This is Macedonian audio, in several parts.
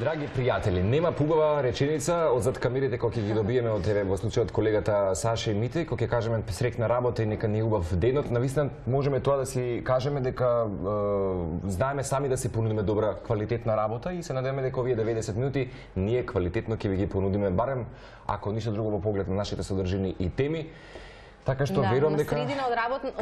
Драги пријатели, нема пубава реченица од зад камерите кој ќе ги добиеме од тебе во случајот колегата Саша и Мите, кој ќе кажеме среќна работа и нека ни убав денот. Навистина можеме тоа да си кажеме дека знаеме сами да се понудиме добра квалитетна работа и се надеваме дека овие 90 минути ние квалитетно ќе ви ги понудиме барем ако ништо друго во поглед на нашите содржини и теми. Така што верувам дека на средина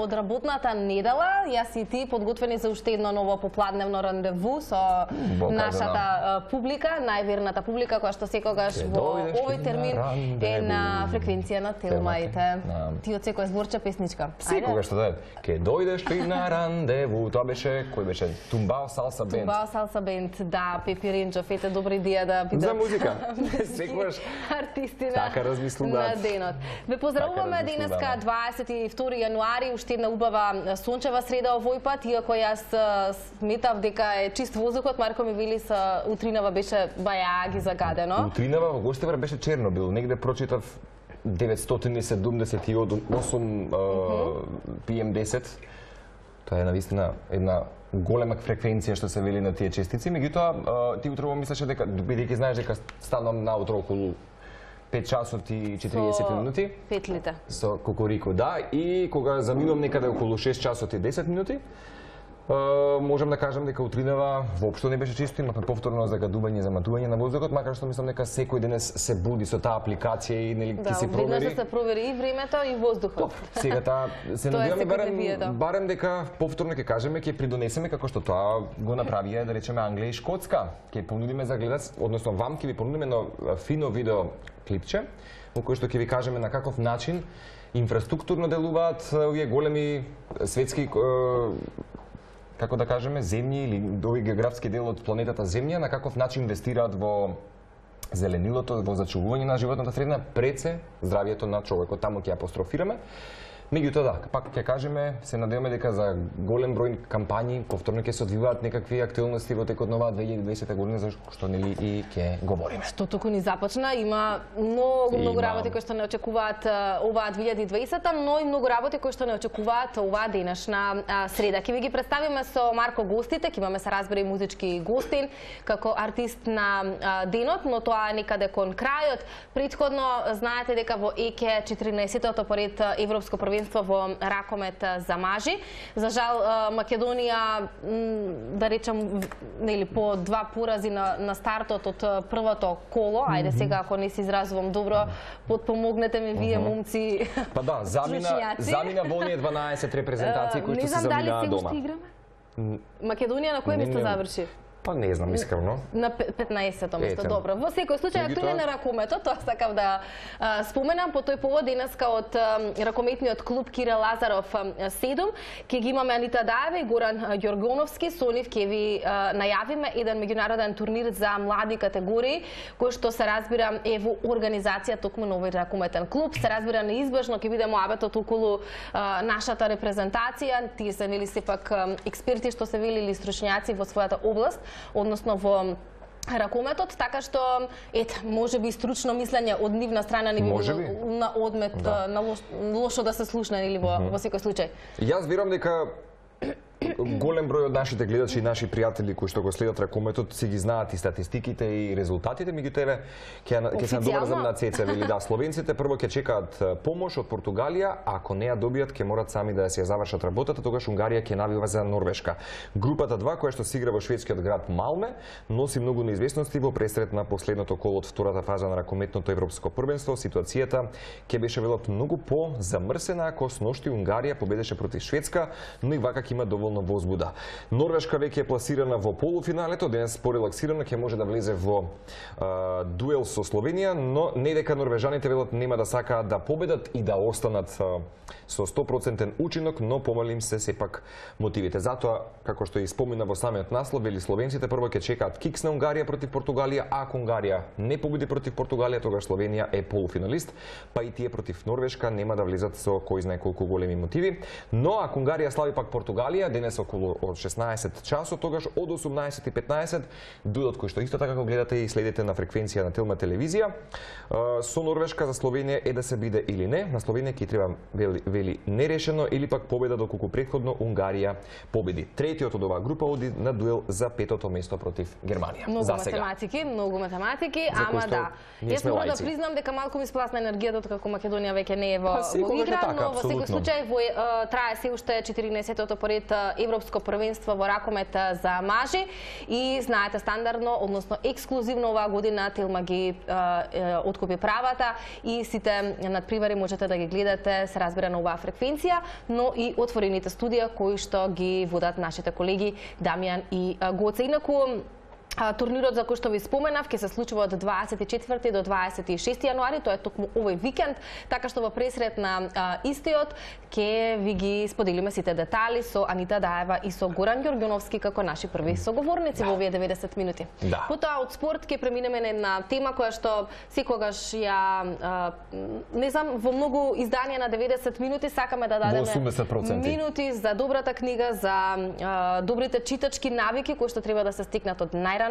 од работната недела, јас и ти подготвени за уште едно ново попладневно рандеву со нашата публика, најверната публика која што секогаш во овој термин е на фреквенција на Телмаите. Ти од секоја зборча песничка. Секогаш што даде. Ке дојдеш ли на рандеву? Тоа беше кој беше? Тумбао Салса Бенд. Тумбао Салса Бенд, да, Пепи Ренџов, ете добра идеја да бидат за музика. Секогаш артисти на денот. Ве поздравуваме денеска 22 јануари, уште една убава сончева среда овој пат, иако јас сметав дека е чист воздухот, Марко ми вели со утринава беше бајаги загадено. Утринава во Гостивар беше Чернобил, негде прочитав 978 PM10. Тоа е навистина една голема фреквенција што се вели на тие честици, меѓутоа ти утрово мислеше дека бидејќи знаеш дека станам наутро околу 5 часот и 40 минути. 5 лита. Со кукурику, да. И кога заминувам некаде околу 6 часот и 10 минути, можам да кажам дека утринава воопшто не беше чисто, имавме повторно загадување, заматување на воздухот, макар што мислам дека секој денес се буди со таа апликација и нели ќе се провери. Да, се провери и времето и воздухот. Сега таа се надеваме барем дека повторно ќе кажеме, ќе придонесеме како што тоа го направија да речеме Англија и Шкотска. Ќе понудиме за гледач, односно вам ќе ви понудиме едно фино видео клипче во кој што ќе ви кажеме на каков начин инфраструктурно делуваат овие големи светски како да кажеме, земји или овој географски дел од планетата Земја, на каков начин инвестираат во зеленилото, во зачувување на животната средина, пред се здравието на човекот. Таму ќе апострофираме. Меѓутоа да, пак ќе кажеме, се надеваме дека за голем број кампањи повторно ќе се одвиваат некакви актуелности во текот на оваа 2020 година, за што нели и ќе говориме. Што туку ни започна, има многу работи кои што не очекуваат оваа 2020, но и многу работи кои што не очекуваат оваа денешна среда. Ќе ви ги представиме со Марко гостите, ќе имаме се разбери музички гостин како артист на денот, но тоа е некаде кон крајот. Претходно знаете дека во ЕКЕ 14-тото поред европско првенство во ракомет за мажи. За жал Македонија, да речем, нели по 2 порази на стартот од првото коло. Ајде сега ако не се изразувам добро, потпомогнете ме вие момци. Па да, замина во оние 12 репрезентации кои што се заминаа дома. Не знам дали се уште играме? Македонија на кој место заврши? Па не знам, искрено. На 15-то место, добро. Во секој случај актуелен е ракометот, тоа сакав да споменам. По тој повод денеска од ракометниот клуб Кире Лазаров 7 ќе ги имаме Анита Даева и Горан Ѓоргоновски. Со нив ќе ви најавиме еден меѓународен турнир за млади категории, кој што се разбира е во организација токму на овој ракометен клуб. Се разбира неизбежно ќе биде моабетот околу нашата репрезентација. Тие се нели сепак експерти што се велили стручњаци во својата област, односно во ракометот, така што ете, можеби стручно мислење од нивна страна не би било на одмет, на лошо да се слушне или во секој случај. Јас верувам дека голем број од нашите гледачи и наши пријатели кои што го следат ракометот си ги знаат и статистиките и резултатите, меѓутоа ќе се надоврзам на Цеца, вели да, словенците прво ќе чекаат помош од Португалија, ако не ја добијат ќе морат сами да ја завршат работата, тогаш Унгарија ќе навива за Норвешка. Групата 2 која што се игра во шведскиот град Малме носи многу неизвестности во пресрет на последното коло од втората фаза на ракометното европско првенство. Ситуацијата ќе беше велот многу по-замрсена ако сношти Унгарија победеше против Шведска, но и вака ќе има доволно возбуда. Норвешка веќе е пласирана во полуфиналето, денес порелаксирано ќе може да влезе во дуел со Словенија, но не дека норвежаните велат нема да сакаат да победат и да останат со 100% учинок, но помали им се сепак мотивите. Затоа, како што и спомена во самиот наслов, вели словенците прво ќе чекаат кикс на Унгарија против Португалија, а ако Унгарија не победи против Португалија, тогаш Словенија е полуфиналист, па и тие против Норвешка нема да влезат со кој знае колку големи мотиви. Но ако Унгарија слави пак Португалија, денес околу 16 часот, тогаш од 18:15 дуелот кој што исто така го гледате и следите на фреквенција на Телма телевизија. Со Норвешка за Словенија е да се биде или не. На Словенија ќе треба вели нерешено или пак победа, доколку претходно Унгарија победи. Третиот од оваа група оди на дуел за петото место против Германија. Многу математики, ама да. Јас морам да признам дека малку ми спласна енергијата како Македонија веќе не е во игра, но во секој случај трае се уште 14-тото поред европско првенство во ракомет за мажи и знаете стандардно, односно ексклузивно оваа година Телма ги откупи правата и сите надпревари можете да ги гледате, се разбира на оваа фреквенција, но и отворените студија кои што ги водат нашите колеги Дамјан и Гоце. Инаку турнирот за кој што ви споменав ќе се случува од 24 до 26 јануари, тоа е токму овој викенд, така што во пресред на истиот ќе ви ги споделиме сите детали со Анита Даева и со Горан Ѓорѓановски како наши први соговорници во овие 90 минути. Потоа од спорт ќе преминеме на една тема која што секогаш ја не знам, во многу изданија на 90 минути сакаме да дадеме минути за добрата книга, за добрите читачки навики кои што треба да се стекнат од најрана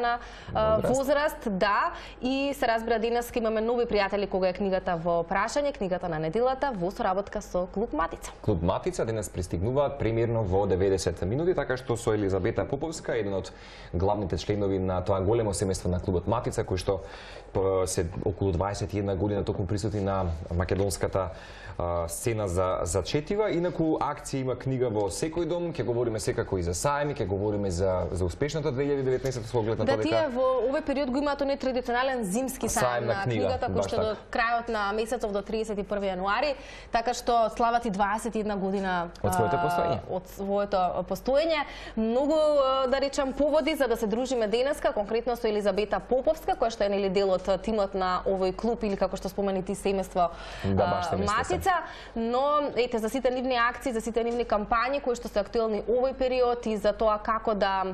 возраст, да, и се разбира денес имаме нови пријатели кога е книгата во прашање, книгата на неделата во соработка со Клуб Матица. Клуб Матица денес пристигнуваат премиерно во 90 минути, така што со Елизабета Поповска, еден од главните членови на тоа големо семејство на Клубот Матица, кој што се околу 21 година токму присутни на македонската сцена за четива. Инаку акција има книга во секој дом, ќе говориме секако и за сајми, ќе говориме за успешната 2019 со оглед на тоа дека тие во овој период го имаат оној традиционален зимски сајм на книгата кој што до крајот на месецов до 31 јануари, така што слават и 21 година од своето постоење. Од своето постоење. Многу да речам поводи за да се дружиме денеска, конкретно со Елизабета Поповска, која што е нели дел од тимот на овој клуб или како што спомени ти семејство Матица, но ете за сите нивни акции, за сите нивни кампањи кои што се актуелни овој период и за тоа како да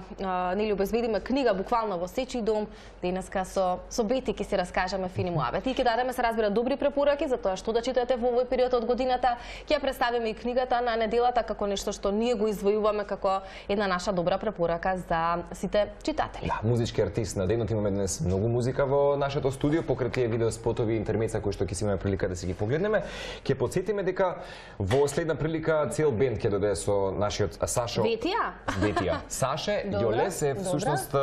нели обезбедиме книга буквално во сечи дом, денеска со Бети ќе се раскажеме фини муабети и ќе дадеме се разбира добри препораки за тоа што да читате во овој период од годината. Ќе ја представиме и книгата на неделата како нешто што ние го извојуваме како една наша добра препорака за сите читатели. Да, музички артист на денот, имаме денес многу музика во нашето студио, покрај тие видео спотови и интермеца кои што ќе си имаме прилика да си ги погледнеме. Ќе потсетиме дека во следна прилика цел бенд ќе дојде со нашиот Сашо Ветија. Саше Јолес е всушност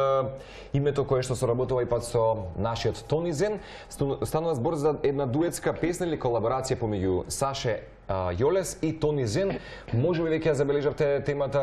името кое што соработува и пат со нашиот Тони Зен. Станува збор за една дуетска песна или колаборација помеѓу Саше Јолес и Тони Зен. Може би веќе ја забележавте темата,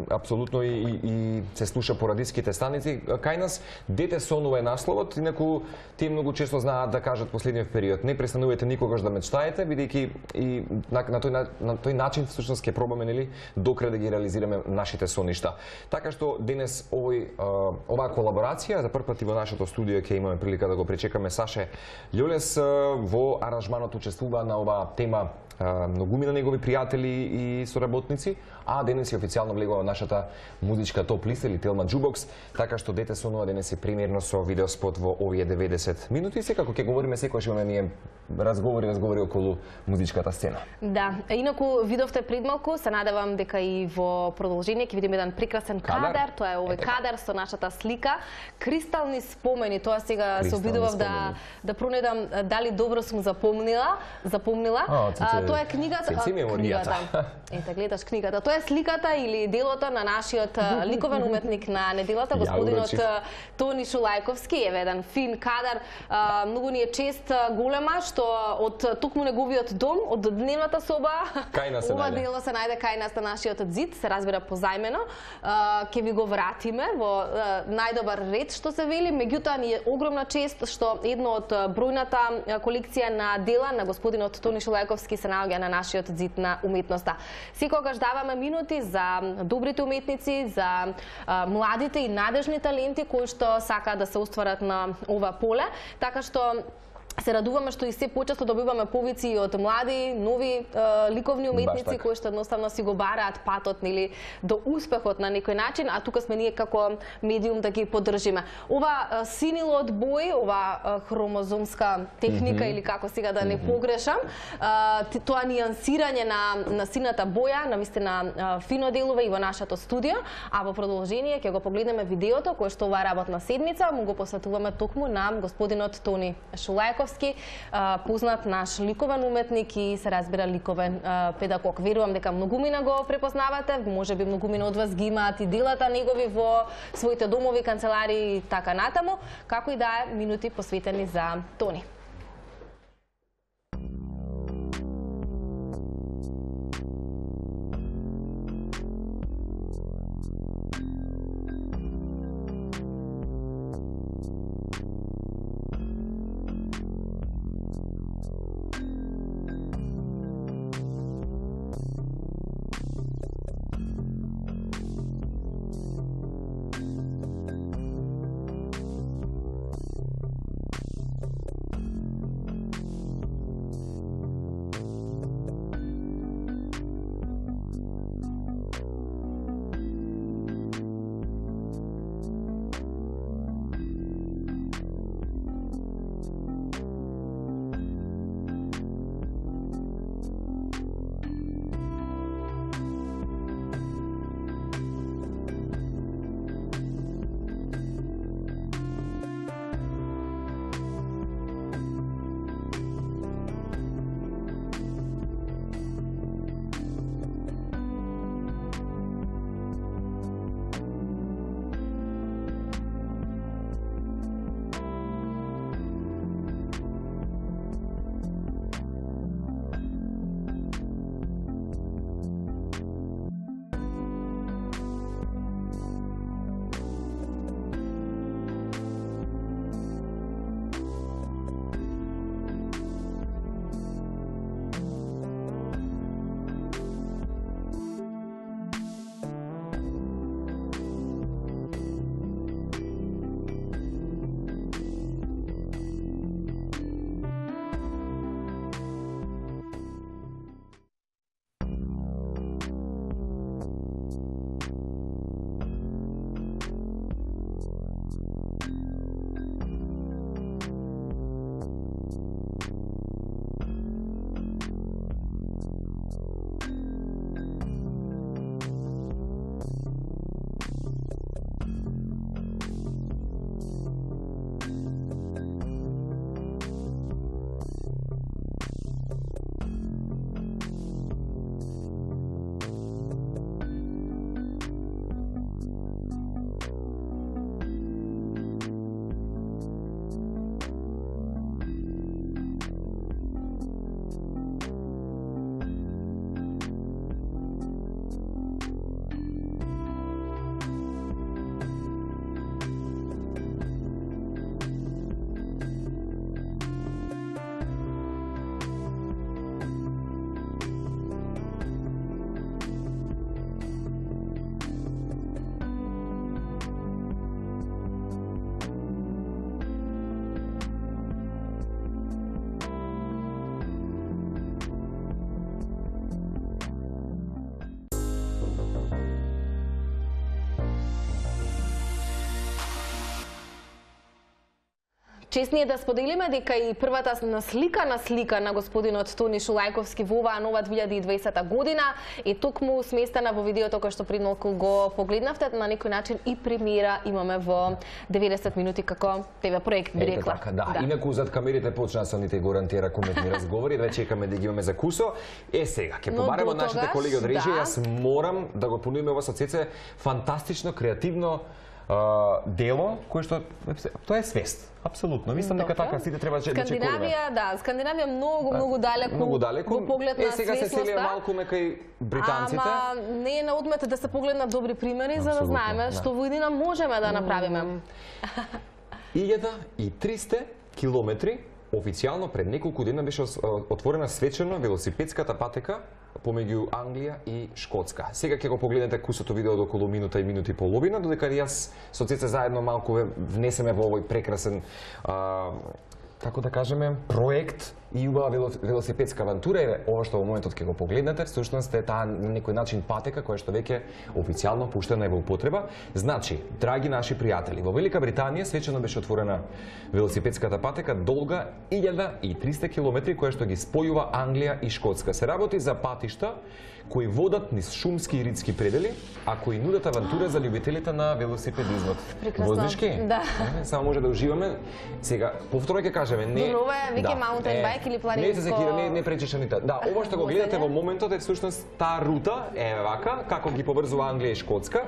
апсолутно и се слуша по радиските станици кај нас. Дете сонува е насловот, инаку тие многу често знаат да кажат последниот период. Не престанувате никогаш да мечтаете, бидејќи и на тој начин всушност ќе пробаме нели докрај да ги реализираме нашите соништа. Така што денес оваа колаборација за прв пат и во нашето студио ќе имаме прилика да го пречекаме Саше Јолес. Во аранжманот учествува на оваа тема многумина негови пријатели и соработници, а денес е официјално влегува во нашата музичка топ листа или Телма Jukebox, така што дете сонува денес е премиерно со видеоспот во овие 90 минути. Секако ќе говориме секогаш имаме ние разговори околу музичката сцена. Да, инаку видовте пред малку, се надевам дека и во продолжение ќе видиме еден прекрасен кадар, тоа е овој кадар со нашата слика, кристални спомени. Тоа сега се обидував да пронедам дали добро сум запомнила. Тоа е книгата. Ете, гледаш книгата. Тоа е сликата или делото на нашиот ликовен уметник на неделата, господинот Тони Шулајковски. Еве еден фин кадар, многу ни е чест голема што од токму неговиот дом, од дневната соба, ова дело се најде кај нас на нашиот зид, се разбира позајмено. Ќе ви го вратиме во најдобар ред што се вели, меѓутоа ни е огромна чест што едно од бројната колекција на дела на господинот Тони Шулајковски се наоѓа на нашиот зид на уметноста. Секогаш даваме минути за добрите уметници, за младите и надежни таленти кои што сакаат да се остварат на ова поле, така што се радуваме што и се почесто добиваме повици од млади, нови ликовни уметници кои што едноставно си го бараат патот нели до успехот на некој начин, а тука сме ние како медиум да ги поддржиме. Ова синилот бој, ова хромозомска техника или како сега да не погрешам, тоа нијансирање на сината боја, навистина фино делува и во нашето студио, а во продолжение ќе го погледнеме видеото кое што оваа работна седмица му го посветуваме токму на господинот Тони Шулајковски, познат наш ликовен уметник и се разбира ликовен педагог. Верувам дека многумина го препознавате, можеби многумина од вас ги имаат и делата негови во своите домови, канцеларии и така натаму, како и да е минути посветени за Тони. Чест ни е да споделиме дека и првата насликана слика на господинот Тони Шулајковски во оваа нова 2020 година е токму сместена во видеото кој што пред малку го погледнавте. На некој начин и премиера имаме во 90 минути како ТВ проект, би рекла. Така, да. Инаку зад камерите почна со ните гарантира кометни разговори, да чекаме да ги имаме за кусо. Сега ќе побараме од нашите колеги од режија. Јас морам да го понудиме ова со Цеце фантастично, креативно дело кој што тоа е свест. Апсолутно. Мислам дека така сите треба да чекаме. Скандинавија многу далеку во поглед на сега се селија малку кај британците. Ама не е на одмет да се погледнат добри примери за да знаеме што во иднина можеме да направиме. 1300 километри официјално пред неколку дена беше отворена свечено велосипедската патека помеѓу Англија и Шкотска. Сега ќе го погледнете кусото видео до околу минута и минути и половина, додека јас со Цеце заедно малку внесеме во овој прекрасен така да кажеме, проект и убава велосипедска авантура. Еве, ова што во моментот ќе го погледнете, всушност е таа на некој начин патека која што веќе официјално пуштена е во употреба. Значи, драги наши пријатели, во Велика Британија свечено беше отворена велосипедската патека долга 1300 километри која што ги спојува Англија и Шкотска. Се работи за патишта кои водат низ шумски и ридски предели, а кои нудат авантура за љубителите на велосипедизмот. Вознишки? Да. Само може да уживаме. Сега, повторно ќе кажеме, не... Добро е, веќе маунтен байк или планинско... Не се секира, не пречеше ни тоа. Да, ова што го гледате во моментот е всушност таа рута, вака, како ги поврзува Англија и Шкотска.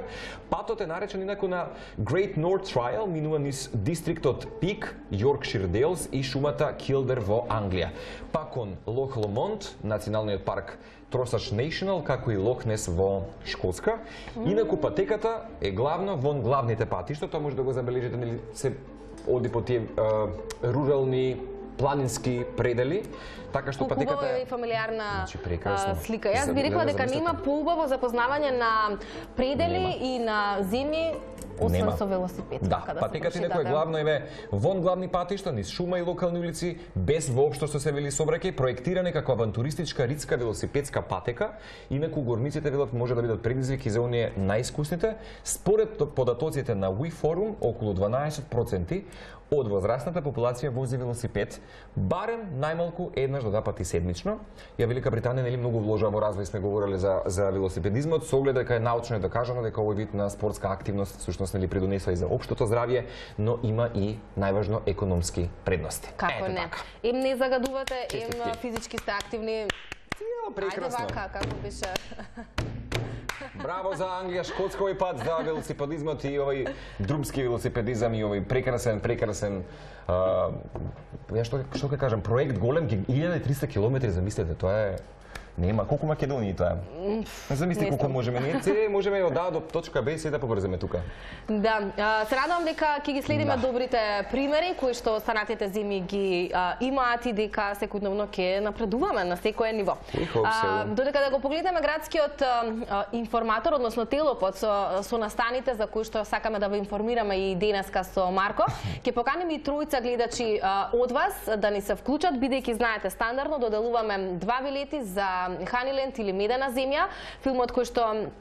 Патот е наречен инаку на Great North Trail, минува низ дистриктот Пик, Yorkshire Dales и шумата Килдер во Англија. Па кон Лох Ломонд, националниот парк Тросач National, како и Лохнес во Шкотска. Инаку патеката е главно вон главните патишта, тоа може да го забележите, нели се оди по тие рурални планински предели, така што патеката е фамилиарна слика. Јас би рекла дека нема поубаво запознавање на предели и на зими освен со велосипед. Да, патеката некој главно е вон главни патишта, низ шума и локални улици, без воопшто што се вели сообраќај, проектиране како авантуристичка ридска велосипедска патека. Инаку горниците велат може да бидат предизвик и за оние најискусните. Според податоците на WeForum, околу 12% од возрастната популација вози велосипед, барем најмалку еднаш до два пати седмично. Ја Велика Британија нели многу вложува во развој, сме говореле за велосипедизмот, со оглед дека е научно докажано дека овој вид на спортска активност всушност нели придонесува и за општото здравје, но има и најважно економски предности. Како не? Им не загадувате, им физички сте активни. Прекрасно. Ајде вака, како беше. Браво за Англија, Шкотска овој пат, за велосипедизмот и овој друмски велосипедизам и овој прекрасен ја што ќе кажам, проект голем, 1300 километри, замислете, тоа е нема колку Македонија тоа. Замисли колку можеме ние, можеме од А до точка Б се да побрземе тука. Да, се радувам дека ќе ги следиме добрите примери кои што останатите зими ги имаат и дека секојдневно ќе напредуваме на секое ниво. Додека да го погледнеме градскиот информатор, односно телопод со настаните за кои што сакаме да ве информираме и денеска со Марко, ќе поканеме и тројца гледачи од вас да ни се вклучат, бидејќи знаете стандардно доделуваме 2 билети за Ханиленд или Медена земја, филмот кој што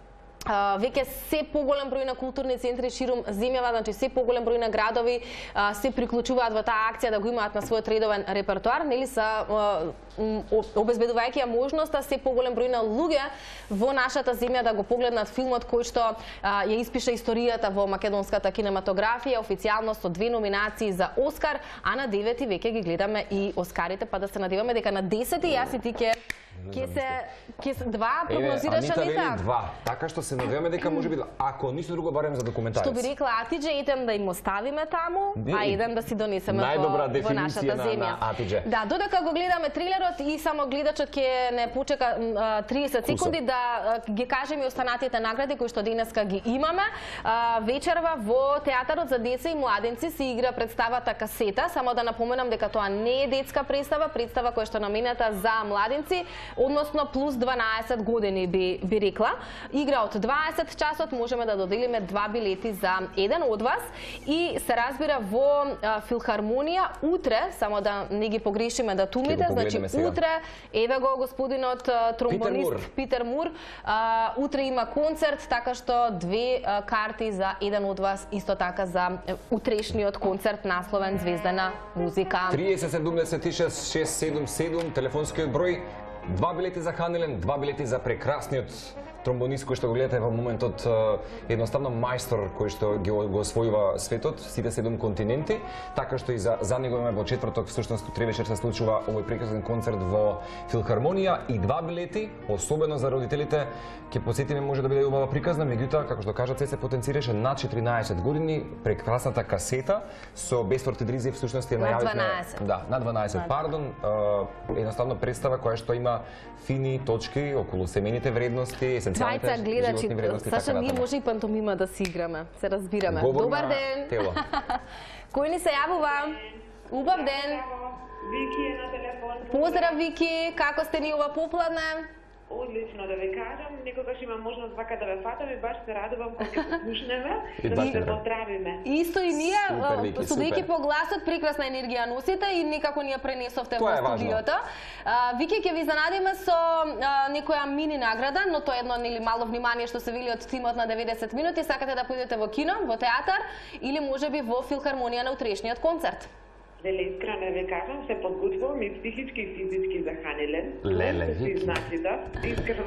веќе се поголем број на културни центри ширум земјава, значи се поголем број на градови се приклучуваат во таа акција да го имаат на својот редовен репертоар, нели са обезбедувајќи ја можноста се поголем број на луѓе во нашата земја да го погледнат филмот кој што ја испиша историјата во македонската кинематографија, официјално со 2 номинации за Оскар, а на 9 веќе ги гледаме и Оскарите, па да се надеваме дека на 10 јас и ти ќе се 2 прогнозираш Анита. 2. Така што се надеваме дека можеби ако ништо друго барем за документарец. Што би рекла Атидже, еден да им оставиме таму, а еден да си донесеме во нашата земја. Да, додека го гледаме трилерот и само гледачот ќе не почека 30 секунди да ги кажеме останатите награди кои што денеска ги имаме. Вечерва во театарот за деца и младенци се игра представата Касета. Само да напоменам дека тоа не е детска представа која што намената за младенци, односно плюс 12 години би рекла. Игра од 20 часот, можеме да доделиме 2 билети за еден од вас и се разбира во Филхармонија утре, само да не ги погрешиме датумите, значи утре еве го господинот тромбонист Питер Мур, утре има концерт, така што 2 карти за еден од вас, исто така за утрешниот концерт насловен Звездена музика. 3076 677 телефонскиот број. 2 билети за Ханиленд, 2 билети за прекрасниот тромбонист кој што го гледате во моментот, едноставно мајстор кој што го освојува светот, сите 7 континенти, така што и за него имаме во четврток, всушност утре вечер се случува овој прекрасен концерт во Филхармонија и 2 билети, особено за родителите, ќе посетиме може да биде убава приказна, меѓутоа како што кажа се потенцираше над 14 години, прекрасната Касета со Бесфорд и Дризи всушност е најавивме. Да, на 12, пардон, едноставно представа која што има фини точки околу семејните вредности, Двајца гледачи, Саша, ние може и пантомима да си играме, се разбираме. Добар ден! Кој ни се јавува? Убав ден! Вики е на телефон. Поздрав, Вики, како сте ни ова попладне? Одлично да ви кажам, некогаш имам можност вака да ве фатам и баш се радувам кога ќе послушнеме, да се поздравиме. Исто и ние, судејќи по гласот, прекрасна енергија носите и некако ни ја пренесовте во студиото. Вики, ќе ви занадиме со некоја мини награда, но тоа е едно нели мало внимание што се вели од тимот на 90 минути. Сакате да поидете во кино, во театар или можеби во филхармонија на утрешниот концерт? Деле, искрено ви кажам, се подготвувам и психички и физички за Ханилен. Леле, Вики.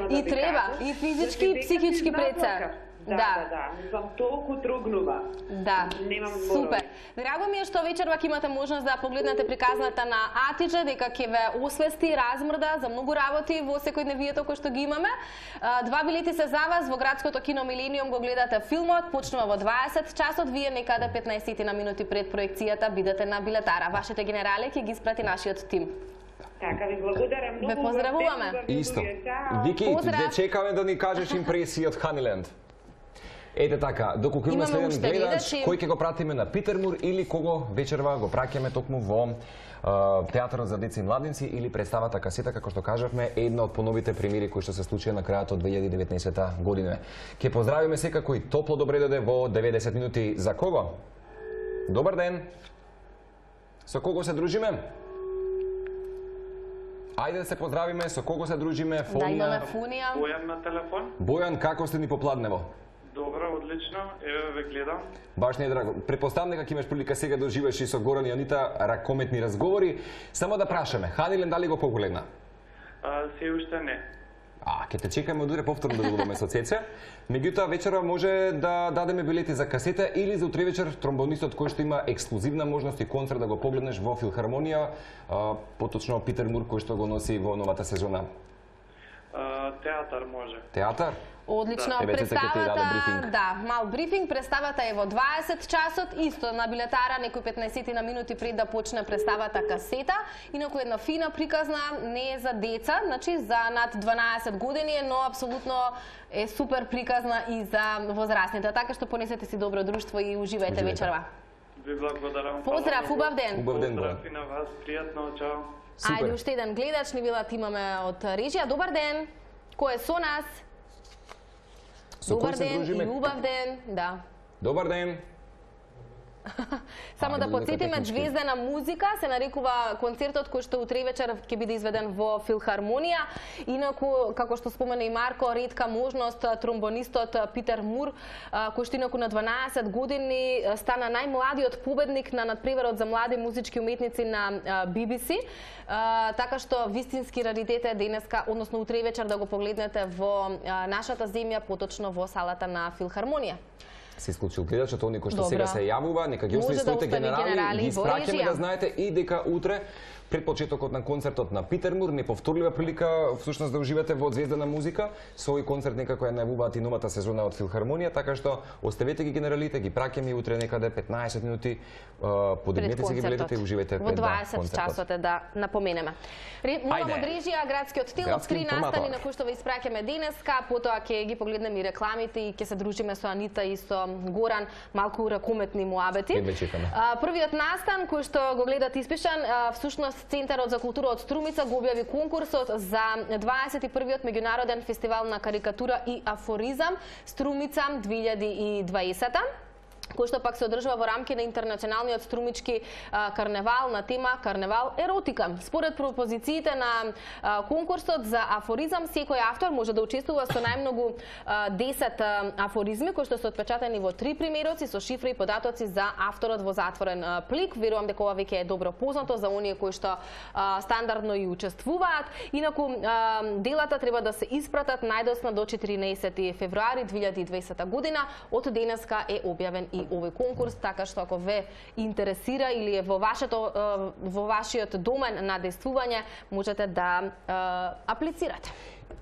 И треба, и физички и психички пред се. Да. Мислам, толку трогнува. Да, супер. Драго ми е што вечерва ќе имате можност да погледнете приказната на Атидже, дека ќе ве освести, размрда за многу работи во секојдневието кој што ги имаме. 2 билети се за вас во градското кино Милениум, го гледате филмот, почнува во 20 часот, вие некаде 15 на минути пред проекцијата бидете на билетара. Вашите генерали ќе ги испрати нашиот тим. Така, ви благодарам многу. Ве поздравуваме. Исто. Вики, ќе чекаме да ни кажеш импресии од Ханиленд. Ете така, доколку имаме следен гледач, кој ќе го пратиме на Питермур или кого вечерва го праќаме токму во театарот за деца и младинци или представата Касета, како што кажавме, една од поновите премиери кои што се случија на крајот од 2019 година. Ќе поздравиме секако и топло добре дојде во 90 минути. За кого? Добар ден. Со кого се дружиме? Ајде да се поздравиме, со кого се дружиме? Фонија. Да, имаме Фонија. Бојан на телефон. Бојан, како сте ни попладнево? Добро, одлично, еве ве гледам. Баш не е драго. Предпоставам дека ќе имаш прилика сега да уживаш и со Горан и Анита ракометни разговори. Само да прашаме, Ханилен дали го погледна? Се уште не. Ќе те чекаме од утре повторно да гледаме со Цеце. Меѓутоа вечерва може да дадеме билети за Касета или за утре вечер тромбонистот кој што има ексклузивна можност и концерт да го погледнеш во филхармонија, поточно Питермур кој што го носи во новата сезона. Театар може. Театар? Одлично, представата, мал брифинг, представата е во 20 часот, исто на билетара некои 15 на минути пред да почне представата Касета, инаку една фина приказна, не е за деца, значи за над 12 години, но апсолутно е супер приказна и за возрастните, така што понесете си добро друштво и уживајте вечерва. Ви благодарам. Поздрав, убав ден. Убав ден, поздрав и на вас, пријатно, чао. Ајде, уште еден гледач, ни билат имаме од режија. Добар ден. Кој е со нас? Добар ден и убав ден, да. Добар ден. Само да подсетиме, Звездена музика се нарекува концертот кој што утре вечер ќе биде изведен во филхармонија. Инаку, како што спомена и Марко, ретка можност тромбонистот Питер Мур, кој што инаку на 12 години стана најмладиот победник на надпреварот за млади музички уметници на BBC. Така што вистински раритет е денеска, односно утре вечер да го погледнете во нашата земја, поточно во салата на филхармонија. Се исклучил гледачот, они кои што сега се јавува, нека ги остави своите генерали, ги испраќаме да знаете и дека утре пред почетокот на концертот на Питермур, неповторлива прилика всушност да уживате во Звездена музика. Со овој концерт некако ја најавуваат и новата сезона од филхармонија, така што оставете ги генералите, ги праќаме и утре некаде 15 минути, подигнете се ги билетите и уживајте пред концертот. Во 20 часот е да напоменеме. Морам од режија, градскиот тил, од 3 настани на кои што ве испраќаме денеска, потоа ќе ги погледнеме и рекламите и ќе се дружиме со Анита и со Горан, малку ракометни муабети. Првиот настан кој што го гледат испишан, всушност Центарот за култура од Струмица го објави конкурсот за 21-тиот меѓународен фестивал на карикатура и афоризам Струмица 2020, кој што пак се одржува во рамки на интернационалниот струмички карневал на тема Карневал еротика. Според пропозициите на конкурсот за афоризам, секој автор може да учествува со најмногу 10 афоризми кои што се отпечатани во 3 примероци со шифра и податоци за авторот во затворен плик. Верувам дека ова веќе е добро познато за оние кои што стандардно и учествуваат. Инаку делата треба да се испратат најдосно до 14 февруари 2020 година. Од денеска е објавен и овој конкурс, така што ако ве интересира или е во вашиот домен на действување, можете да аплицирате.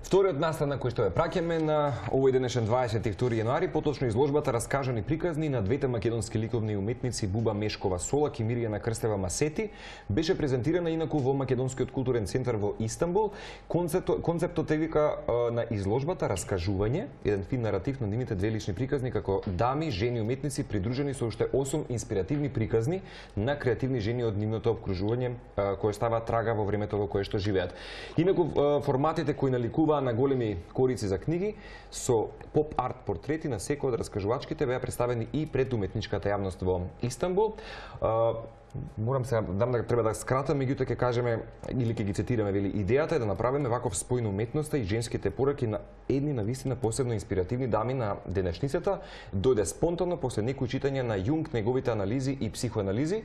Вториот настан на кој што ја праќаме на овој денешен 22 јануари, поточно изложбата Раскажани приказни на двете македонски ликовни уметници Буба Мешкова Солак и Мирјана Крстева Масети, беше презентирана инаку во Македонскиот културен центар во Истанбул. Концептот е вика на изложбата Раскажување, еден фин наратив на нивните две лични приказни како дами, жени уметници придружени со уште 8 инспиративни приказни на креативни жени од нивното обкружување кои ставаат трага во времето во кое што живеат. Инаку форматите кои наликуваат Упатребуваа на големи корици за книги со поп-арт портрети на секој од раскажувачките беа представени и пред уметничката јавност во Истанбул. Морам сега треба да скратам, меѓутоа ќе кажеме или ќе ги цитираме, вели идејата е да направиме ваков спој на уметноста и женските пораки на едни навистина посебно инспиративни дами на денешницата, дојде спонтано после некои читање на Јунг, неговите анализи и психоанализи.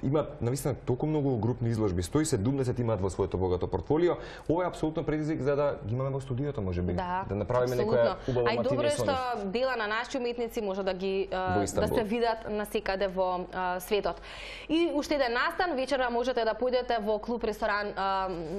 Има навистина толку многу групни изложби, 170 имаат во своето богато портфолио. Ова е апсолутно предизвик за да ги имаме во студиото, можеби, да направиме некоја убава матинија. Ај добро е што дела на наши уметници може да ги да се видат насекаде во светот. И уште еден настан, вечера можете да појдете во клуб ресторан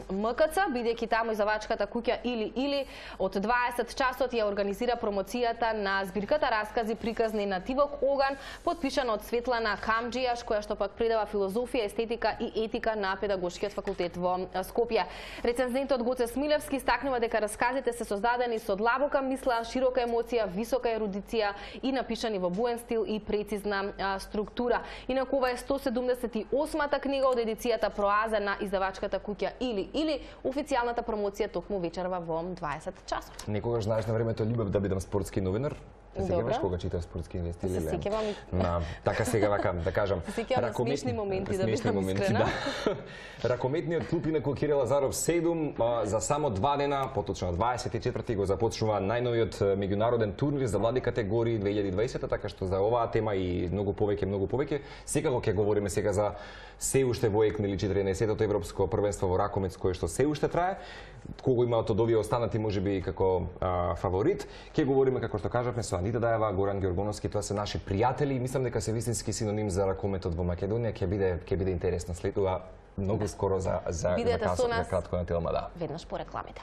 МКЦ, бидејќи таму издавачката куќа или од 20 часот ја организира промоцијата на збирката раскази приказни на Тивок Оган, подпишана од Светлана Камџијаш, која што пак предава филозофија, естетика и етика на педагошкиот факултет во Скопје. Рецензентот Гоце Смилевски стакнува дека расказите се создадени со длабока мисла, широка емоција, висока ерудиција и напишани во буен стил и прецизна структура. Инаку ова е 178-та книга од едицијата Проаза на издавачката куќа или официјалната промоција токму вечерва во 20 часот. Некогаш знаеш на времето љубев да бидам спортски новинар. Се сеќаваш кога читав спортски вести или? Се сеќавам. Така сега вака да кажам. Се сеќавам смешни моменти да бидам искрена. Ракометниот клуб инаку Кире Лазаров 7 за само 2 дена, поточно 24 го започнува најновиот меѓународен турнир за млади категории 2020, така што за оваа тема и многу повеќе, секако ќе говориме сега за се уште во ЕК или 14-тото европско првенство во ракомет кое што се уште трае. Кого имаат од овие останати можеби како фаворит. Ќе говориме како што кажавме со Анита Даева, Горан Ѓоргоновски, тоа се наши пријатели и мислам дека се вистински синоним за ракометот во Македонија. Ќе биде интересно следува многу скоро за кратко на телма, да. Веднаш по рекламите.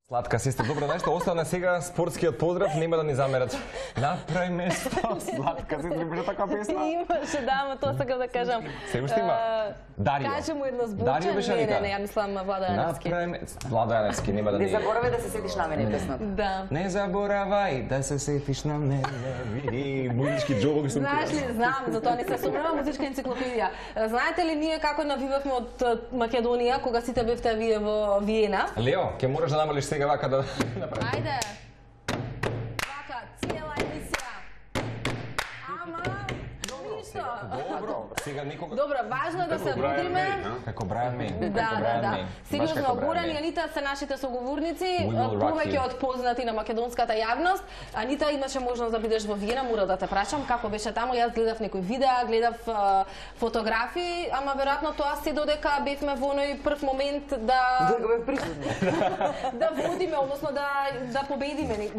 Сладка сестра, добро нешто, остана сега спортскиот поздрав, нема да ни замерат. Направи место, сладка сестра, беше така песна. Имаше, да, ама тоа сакам да кажам. Се уште има. Дарио. Кажи му едно зборче, не, ја мислам Влада Јаневски. Влада Јаневски, нема да ни... Не заборавај да се сетиш на мене песната. Да. Не заборавај да се сетиш на мене. Види, музички џобови сум. Знаеш ли, знам, затоа не се сумнувам, музичка енциклопедија. Знаете ли ние како навивавме од Македонија кога сите бевте вие во Виена? Лео, ќе мораш да намалиш сега вака да направиш. Ајде. Вака, цела емисија. Ама, ништо. Добро, сега никога... Добро, важно да се будиме. Како Брајан Мей. Да. Сериозно, Горан и Анита се нашите соговорници, повеќе од познати на македонската јавност. Анита, имаше можност да бидеш во Виена, мора да те прашам како беше таму. Јас гледав некои видеа, гледав фотографии, ама веројатно тоа се додека бевме во оној прв момент да да водиме, односно да победиме,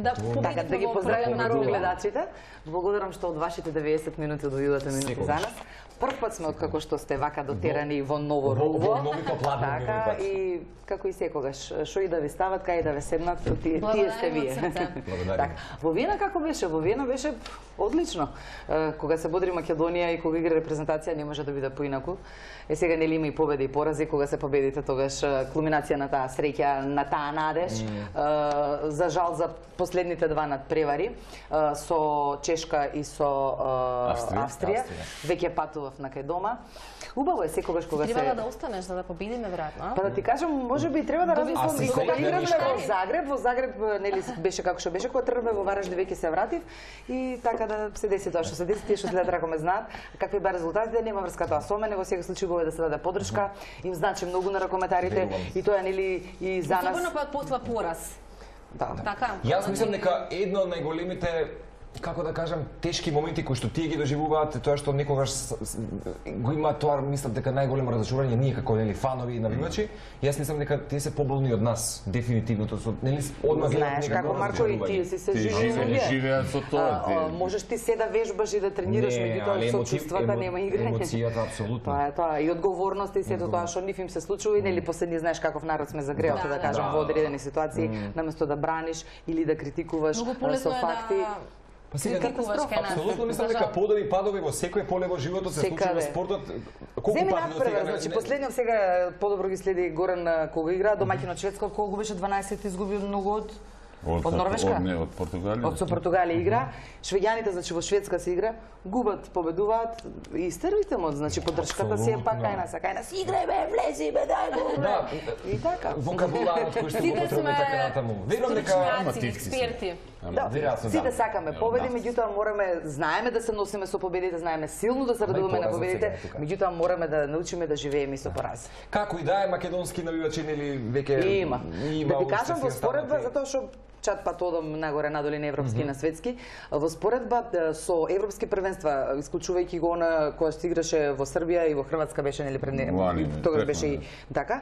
Така, да ги поздравим на гледачите. Благодарам што од вашите 90 минути одвојувате минути за нас. Прв пат сме откако што сте вака дотерани во ново руво. Така и како и секогаш, што и да ви стават, кај да ве седнат, тие сте вие. Благодарам. Во Виена како беше? Во Виена беше одлично. Кога се бодри Македонија и кога игра репрезентација не може да биде поинаку. Сега нели има и победи и порази, кога се победите тогаш кулминација на таа среќа, на таа надеж. За жал за последните два надпревари со Чешка и со Австрија. Веќе патував на кај дома. Убаво е секогаш кога се... Треба да останеш за да победиме, веројатно. Па да ти кажам, можеби треба да размислам и кога игравме во Загреб, нели беше како што беше, кога тргнавме во Варажди веќе се вратив и така да се деси тоа што се деси, тие што следат ракоме знаат какви беа резултатите, нема врска тоа со мене, во секој случај го е да се даде поддршка, им значи многу на ракометарите и тоа нели и за нас. Особено после пораз. Да. Така. Јас мислам дека едно од најголемите, како да кажам, тешки моменти кои што тие ги доживуваат, тоа што некогаш го има тоа, мислам дека најголемо разочарување ние како нели фанови и навивачи. Јас мислам дека тие се поболни од нас, дефинитивно, тоа со нели одма знаеш како Марко и тие си се живеат со тоа. Можеш ти се да вежбаш и да тренираш, меѓутоа со чувствата нема играње. Емоцијата апсолутно. Тоа е тоа и одговорноста и сето тоа што нив им се случува и нели последни знаеш каков народ сме загреал, да кажам, во одредени ситуации, наместо да браниш или да критикуваш со факти. Па сега апсолутно мислам дека подови и падови во секој поле во животот се случува во спортот. Колку пати сега, значи последниот сега подобро ги следи Горан кога игра домаќинот Шведска, колку беше 12 изгуби многу од Од Норвешка? Не, од Португалија. Од со Португалија игра. Швеѓаните, значи во Шведска се игра, губат, победуваат и стервите му, значи поддршката си е пак кај нас, играј бе, влези бе, дај го. Да, и така. Вокабуларот кој што го потребите така натаму. Верувам дека експерти. Да, сите сакаме победи, меѓутоа мораме, знаеме да се носиме со победите, знаеме силно да се радуваме на победите, меѓутоа мораме да научиме да живееме и со порази. Како и да е, македонски навивачи или веќе има. Да ви кажам во споредба, затоа што чат пат одам нагоре надоле на европски и на светски, во споредба со европски првенства, исклучувајќи го на која што играше во Србија и во Хрватска беше нели пред тогаш беше и така,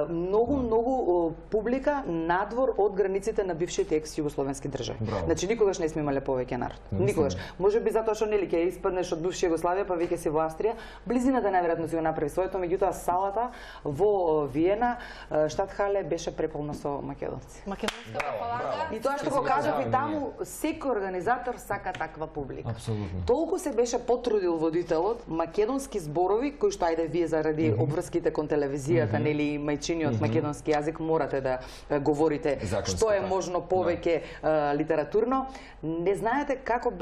многу публика надвор од границите на бившите екс-југословенски држави. Значи никогаш не сме имале повеќе народ. Никогаш. Можеби затоа што нели ќе испаднеш од бивша Југославија, па веќе си во Австрија, близината најверојатно си го направи своето, меѓутоа салата во Виена, Штатхале беше преполна со македонци. Македонска палата. И тоа што го кажав и таму, секој организатор сака таква публика. Апсолутно. Толку се беше потрудил водителот, македонски зборови, кои што ајде вие заради обврските кон телевизијата, нели мајчиниот македонски јазик морате да говорите што е можно повеќе литературно. Не знаете како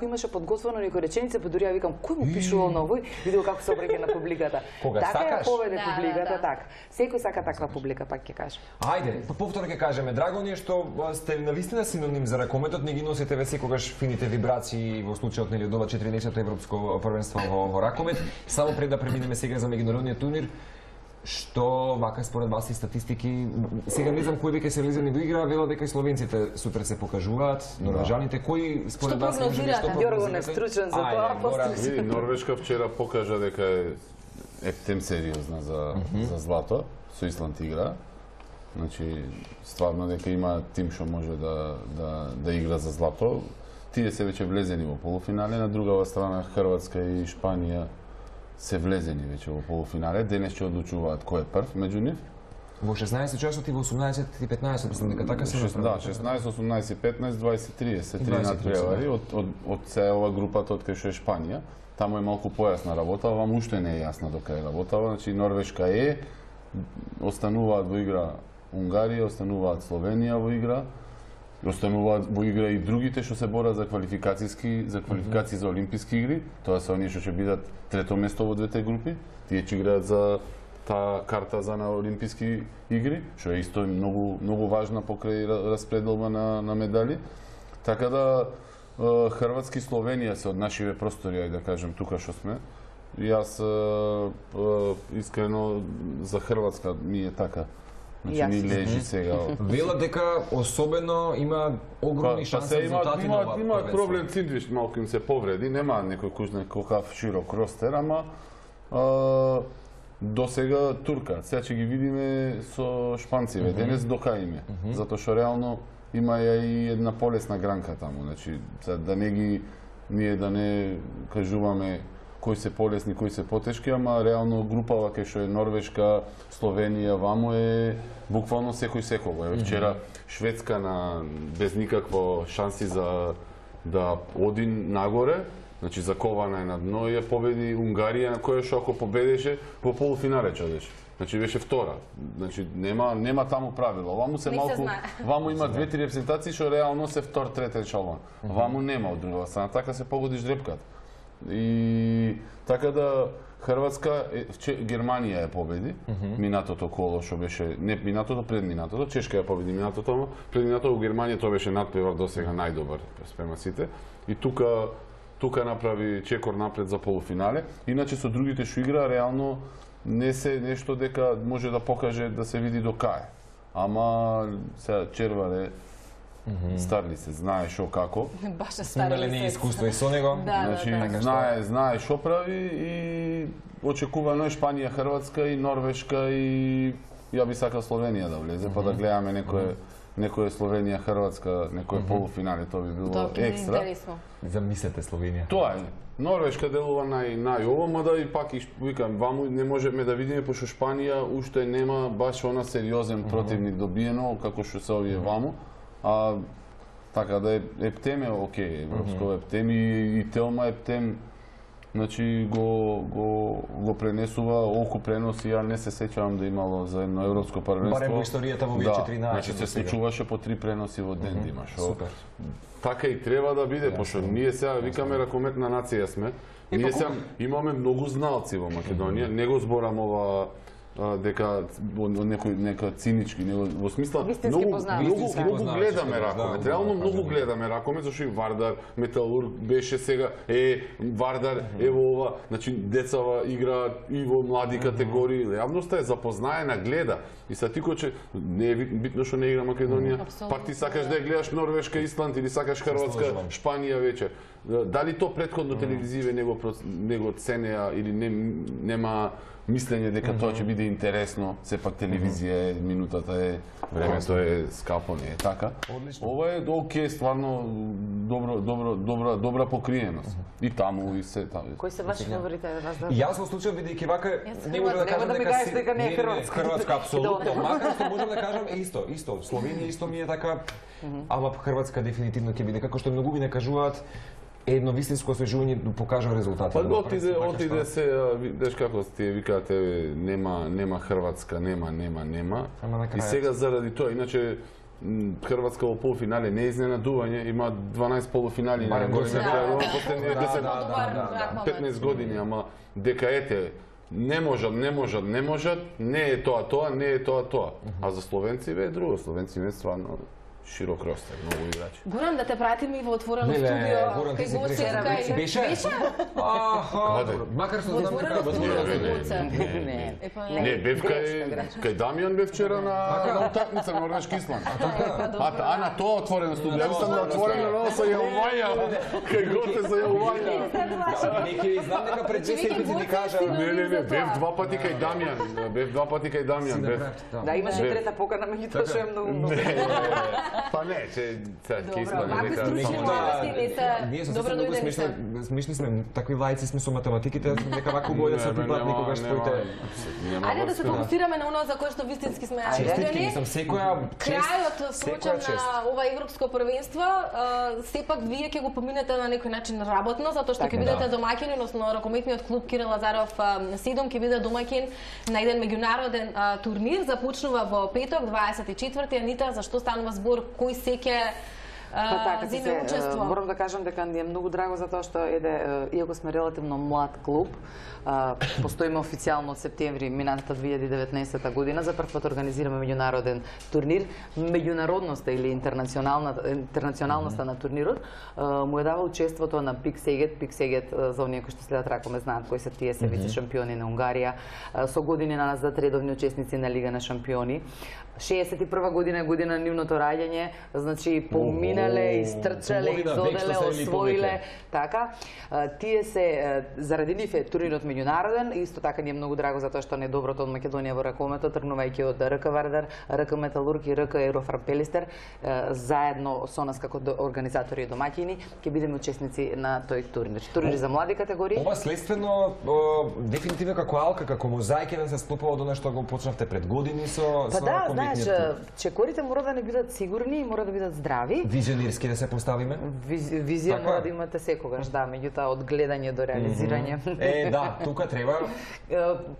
имаше подготвено некои реченица, па дури ја викам кој му пишувал на овој, видел како се обреќа на публиката. Така ја поведе публиката, така. Секој сака таква публика, пак ќе кажам. Ајде, повторно ќе кажеме, драго ни е што сте навистина синоним за ракометот, не ги носите ве секогаш фините вибрации во случајот нели од ова 14-то европско првенство во ракомет. Само пред да преминеме сега за меѓународниот турнир, што вака според вас и статистики, сега не знам кои веќе се влезени во игра, велат дека и словенците супер се покажуваат, норвежаните, кои според вас може нешто Јорго не стручен за тоа. Види, Норвешка вчера покажа дека е ептем сериозна за злато, со Исланд игра. Значи, стварно дека има тим што може да игра за злато. Тие се веќе влезени во полуфинале, на другава страна Хрватска и Шпанија се влезени веќе во полуфинале. Денес ќе одлучуваат кој е прв меѓу нив. Во 16 часот и во 18 и 15, мислам дека така се направи. Да, 16, 18, 15, 20, 30, 3 надпревари од цела групата од кај што е Шпанија. Таму е малку појасна работа, вам уште не е јасна до кај работава. Значи Норвешка е, остануваат во игра Унгарија, остануваат Словенија во игра, остануваат во игра и другите што се борат за квалификации за олимписки игри. Тоа се оние што ќе бидат трето место во двете групи. Тие ќе играат за таа карта за на олимписки игри, што е исто многу важна покрај распределба на медали. Така да Хрватски и Словенија се од нашиве простори, да кажем тука што сме. И јас искрено за Хрватска ми е така. Значи ми лежи сега. Велат дека особено има огромни шанси за резултати на ова. Има проблем Циндриш, малку им се повреди, нема некој кужна колкав широк ростер, ама до сега турка. Сега ќе ги видиме со шпанциве. Денес дока име. Затоа што реално има и една полесна гранка таму. Значи, да не ги ние да не кажуваме кои се полесни, кои се потешки, ама реално групава кај што е Норвешка, Словенија, ваму е буквално секој секого. Вчера Шведска без никакво шанси за да оди нагоре, значи закована е на дно и ја победи Унгарија, на која што ако победеше во полуфинале чадеше. Значи беше втора. Значи нема таму правило. Ваму се малку, ваму има 2-3 репрезентации што реално се втор, третен шалон. Ваму нема од друга страна, така се погодиш дрепката. И така да Хрватска, Германија ја победи минатото коло што беше, не минатото, пред минатото, Чешка ја победи минатото, пред минатото во Германија тоа беше надпревар досега најдобар спрема сите. И тука направи чекор напред за полуфинале. Иначе со другите што игра реално не се нешто дека може да покаже да се види до кај. Ама сега Червале старли се, знае шо како. Баш старли се. Искуство и со него. Значи, знае шо прави и очекувано е Шпанија, Хрватска и Норвешка и ја би сакал Словенија да влезе, па да гледаме некој Словенија, Хрватска, некој полуфинале, тоа би било екстра. Замислете Словенија. Тоа е. Норвешка делува најово, мада и пак викам, ваму не можеме да видиме пошто Шпанија уште нема баш она сериозен противник добиено како што се овие ваму. А така да ептем е окей, европско ептем и Телма ептем значи го пренесува оку преноси, ја не се сеќавам да имало за едно европско првенство. Барем во историјата во 2014. Значи се случуваше по 3 преноси во ден имаш. Супер. Така и треба да биде, пошто ние сега викаме ракометна нација сме. Ние сега имаме многу знаалци во Македонија, не го зборам ова дека нека цинички, во смисла многу гледаме ракомет. Реално многу гледаме ракомет, зашто и Вардар, Металург беше сега, Вардар, ево ова, значи децава играат и во млади категории, јавноста е запознаена, гледа. И са ти че не е битно што не игра Македонија, пак ти сакаш да ја гледаш Норвешка, Исланд или сакаш Хрватска, Шпанија вечер. Дали то претходно телевизиве не го ценеа или нема мислење дека тоа ќе биде интересно, сепак телевизија е, минутата е, времето е скапо, не е така. Ова е окей, стварно добра покриеност. И таму и се таму. Кои се ваши фаворити да вас да? Јас во случај бидејќи вака не можам да кажам дека не е Хрватска апсолутно, макар што можам да кажам исто. Словенија исто ми е така, ама Хрватска дефинитивно ќе биде како што многу ми не кажуваат. Едно вистинско освежување покажа резултати. Па отиде се, видиш како ти викаат, нема Хрватска, нема. И сега заради тоа, иначе Хрватска во полуфинале не е изненадување, има 12 полуфинали на последните 15 години, ама дека не можат, не е тоа, не е тоа. А за словенци е друго, словенци е стварно широк ростер, многу играчи. Гурам, да те пратим и во отворено студио. Гурам, ти си присутен. Беше? Макар што знам дека не, бев кај Дамјан бев вчера на утакмица Норвешки Исланд. А на тоа отворено студио. Ја сум на отворено со Јалвања. Кај госте со Јалвања. Неки знам дека пред 2 седмици ни кажа. Не, бев 2 пати кај Дамјан. Да, имаше трета покана, меѓутоа што е многу. Па не, ќе испадне дека ние со многу смешни сме, такви лаици сме со математиките, дека вака убаво да се припат никогаш твоите. Ајде да се фокусираме на оно за кое што вистински сме честитки, сам секоја крајот случај на ова европско првенство, сепак вие ќе го поминете на некој начин работно, затоа што ќе бидете домаќини, односно ракометниот клуб Кирил Лазаров Седум ќе биде домаќин на еден меѓународен турнир, започнува во петок 24-ти. Анита, зашто станува збор кој секе зиме учество? Морам да кажам дека ни е многу драго затоа што иако сме релативно млад клуб, постоиме официјално од септември минатата 2019 година, за прв пат организираме меѓународен турнир. Меѓународноста или интернационалноста на турнирот му е дава учеството на Пик Сегет, за оние кои што следат ракомет знаат кои се тие се вице шампиони на Унгарија, со години на нас да редовни учесници на Лига на шампиони. 61 година е година на нивното раѓање, значи поминале, истрчале, изоделе, освоиле, така. Тие се заради нив е турнирот меѓународен, исто така ни е многу драго затоа што не е доброто од Македонија во ракометот, тргнувајќи од РК Вардар, РК Металург и РК Еврофарм Пелистер, заедно со нас како организатори и домаќини, ќе бидеме учесници на тој турнир. Турнир за млади категории. Ова следствено дефинитивно како алка, како мозаик да се склопува до нешто го почнавте пред години со знаеш, чекорите мора да не бидат сигурни и мора да бидат здрави. Визионерски да се поставиме? Визија мора да имате секогаш, да, меѓутоа од гледање до реализирање. Да, тука треба.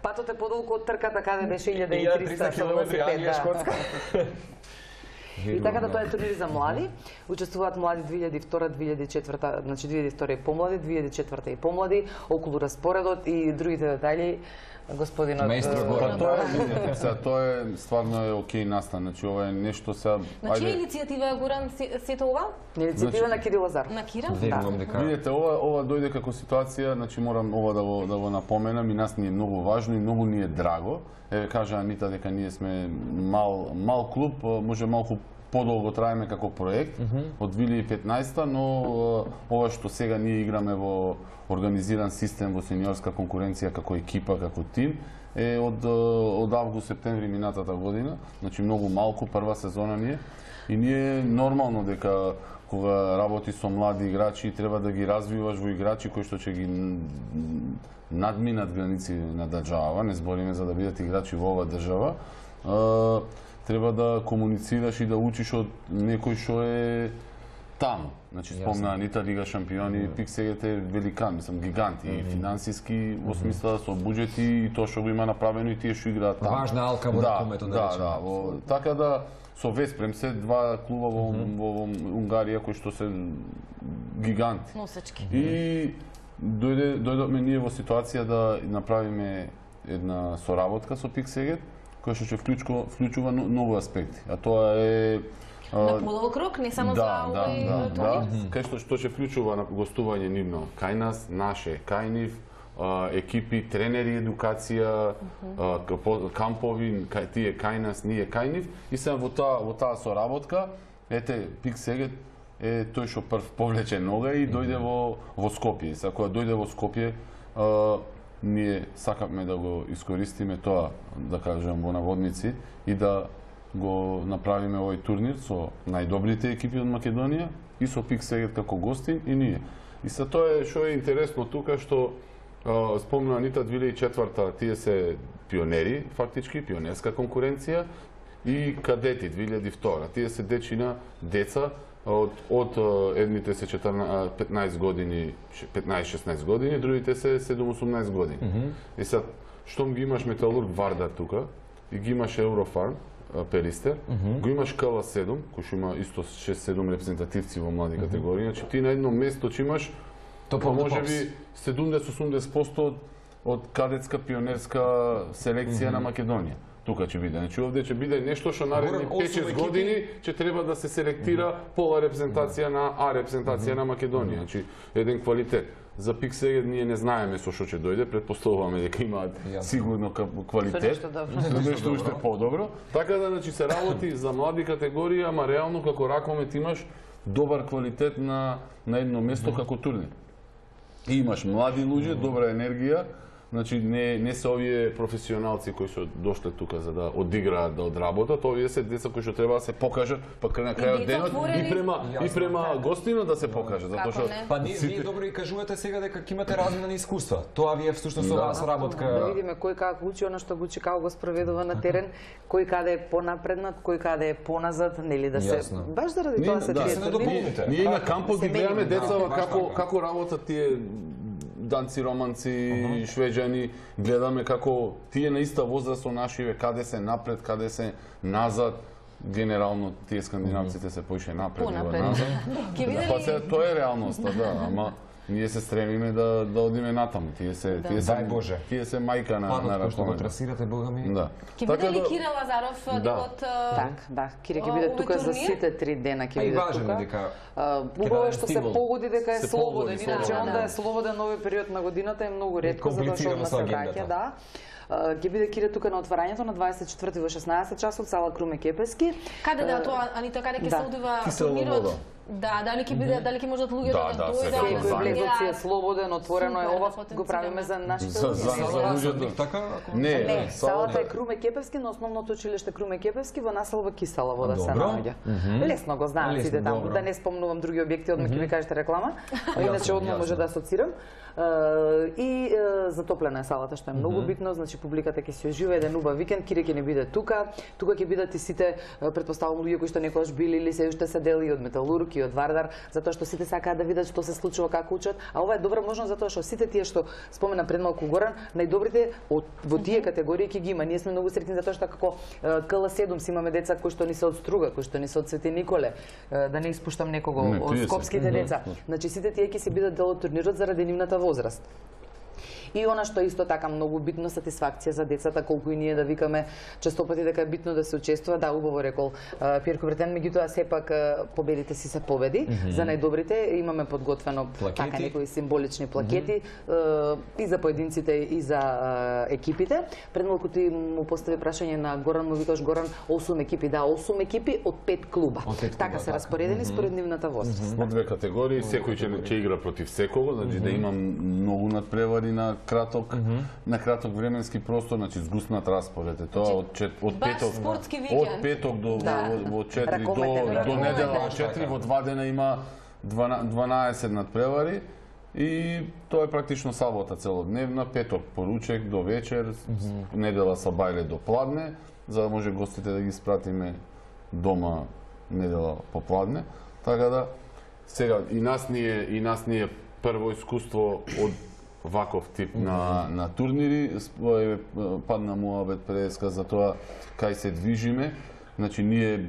Патот е подолку од трката каде беше 1300 километри Англија, Шкотска. И така да тоа е турнир за млади. Учествуваат млади 2002, 2004, значи 2002 и помлади, 2004 и помлади, околу распоредот и другите детали господинот Маестро Горан. Тоа е стварно е окей настан, значи ова е нешто сега. На чија иницијатива е Горан сето ова? Иницијатива на Кирил Лазаров. На Кира? Видете, ова дојде како ситуација, значи морам ова да го напоменам и нас ни е многу важно и многу ни е драго. Еве кажа Анита дека ние сме мал клуб, може малку подолго траеме како проект од 2015, но ова што сега ние играме во организиран систем во сениорска конкуренција како екипа, како тим, е од август-септември минатата година, значи многу малку, прва сезона ни е. И ние нормално дека кога работи со млади играчи треба да ги развиваш во играчи кои што ќе ги надминат граници на држава, не збориме за да бидат играчи во оваа држава. Треба да комуницираш и да учиш од некој што е таму. Значи спомна Анита Лига шампиони, Пик Сегет е великан, мислам гигант и финансиски во смисла со буџети и тоа што го има направено и тие што играат таму. Важна алка во ракометот, да речеме. Така да со Веспрем се два клуба во Унгарија кои што се гиганти. Носачки. И дојдовме ние во ситуација да направиме една соработка со Пик Сегет, која што ќе вклучува нови аспекти, а тоа е на подолг рок, не само за овој турнир. Кај што ќе вклучува на гостување нивно кај нас, наше кај нив, екипи, тренери, едукација, кампови, тие кај нас, ние кај нив, и се во таа соработка, ете, Пик Сегет е тој што прв повлече нога и дојде во Скопје. Сега кога дојде во Скопје, ние сакавме да го искористиме тоа, да кажем, во наводници и да го направиме овој турнир со најдобрите екипи од Македонија и со Пик Сегет како гостин и ние. И се тоа е што е интересно тука, што спомна Анита 2004-та, тие се пионери, фактички, пионерска конкуренција, и кадети 2002-та. Тие се дечина деца од едните се 15 години, 15-16 години, другите се 7-18 години. И сега, штом ги имаш Металург Вардар тука, и ги имаш Еврофарм, Перистер, го имаш КЛ7, кој што има исто 6-7 репрезентативци во млади категории, значи ти на едно место ќе имаш можеби 70-80% од кадетска пионерска селекција на Македонија. Тука ќе биде. Значи овде ќе биде нешто што наредни 5-6 години ќе треба да се селектира пола репрезентација на А репрезентација на Македонија. Значи еден квалитет. За Пик Сегет ние не знаеме со што ќе дојде, претпоставуваме дека имаат сигурно квалитет, нешто уште подобро. Така да значи се работи за млади категории, ама реално како ракомет имаш добар квалитет на едно место како турнир. И имаш млади луѓе, добра енергија. Значи не се овие професионалци кои се дошле тука за да одиграат, да одработат, овие се деца кои што треба да се покажат, па на крајот денот и према гостина да се покажат, затоа што па вие добро и кажувате сега дека ќе имате размена искуства. Тоа ви е всушност оваа соработка. Да видиме кој како учи, она што го учи, како го спроведува на терен, кој каде е понапреднат, кој каде е поназад, нели да се баш заради тоа се тие. Ние на кампот ги гледаме децава како работат тие данци, романци, швеđани, гледаме како тие на иста возраст со нашиве, каде се напред, каде се назад. Генерално тие скандинавците се поише напред и назад. Па се тоа е реалноста, да, ама ние се стремиме да одиме натаму. Тие се мајка на ракомет. Што го трасирате, Бога ми. Да. Ќе биде ли Кире Лазаров од Да, Кире ќе биде тука за сите 3 дена ќе биде тука. Убаво што се погоди дека е слободен, иначе онда е слободен овој период на годината е многу ретко затоа што одма се враќа, да. Ќе биде Кире тука на отварањето на 24 во 16 часот, сала Круме Кепески. Каде да тоа, Анита, каде ќе се одива турнирот? Да, дали ќе можат луѓето да дојдат? Секој влезот си е слободен, отворено е, ова го правиме за нашите луѓе. Не, салата е Круме Кепевски, на основното училиште Круме Кепевски во населба Кисела вода се наоѓа. Лесно го знаат сите таму, да не спомнувам други објекти, одма ќе ми кажете реклама, иначе одма може да асоцирам. И затоплена е салата, што е многу битно, значи публиката ќе се ожива еден убав викенд, Кире ќе не биде тука ќе бидат и сите, претпоставувам, луѓе кои што некогаш били или се уште се дели од Металург и од Вардар, затоа што сите сакаат да видат што се случува, како учат, а ова е добра можност затоа што сите тие што спомена пред малку Горан, најдобрите во тие категории ќе ги има. Ние сме многу среќни затоа што како КЛ7 си имаме деца кои што ни се од Струга, кои што ни се од Свети Николе, да не испуштам некого од скопските деца. Значи сите тие ќе се бидат дел од турнирот заради нивната возраст. И она што исто така многу битно, сатисфакција за децата, колку и ние да викаме честопати дека е битно да се учествува, да, убаво рекол Пиер Кубертен, меѓутоа сепак победите си се победи. За најдобрите имаме подготвено така некои символични плакети и за поединците и за екипите. Пред малку ти му постави прашање на Горан, му викаш Горан, 8 екипи, да, 8 екипи од 5 клуба. Така се распоредени според нивната возраст. Во две категории, секој ќе игра против секого, значи да има многу надпревари на краток временски простор, значи згуснат распоред е тоа од петок до 4 до недела од 4 во 2 дена има 12 надпревари и тоа е практично сабота целодневна, петок поручек до вечер, недела са бајле до пладне, за да може гостите да ги спратиме дома недела попладне. Така да Сега и нас ни е прво искуство од ваков тип на турнири. Падна муабет преска за тоа кај се движиме. Значи ние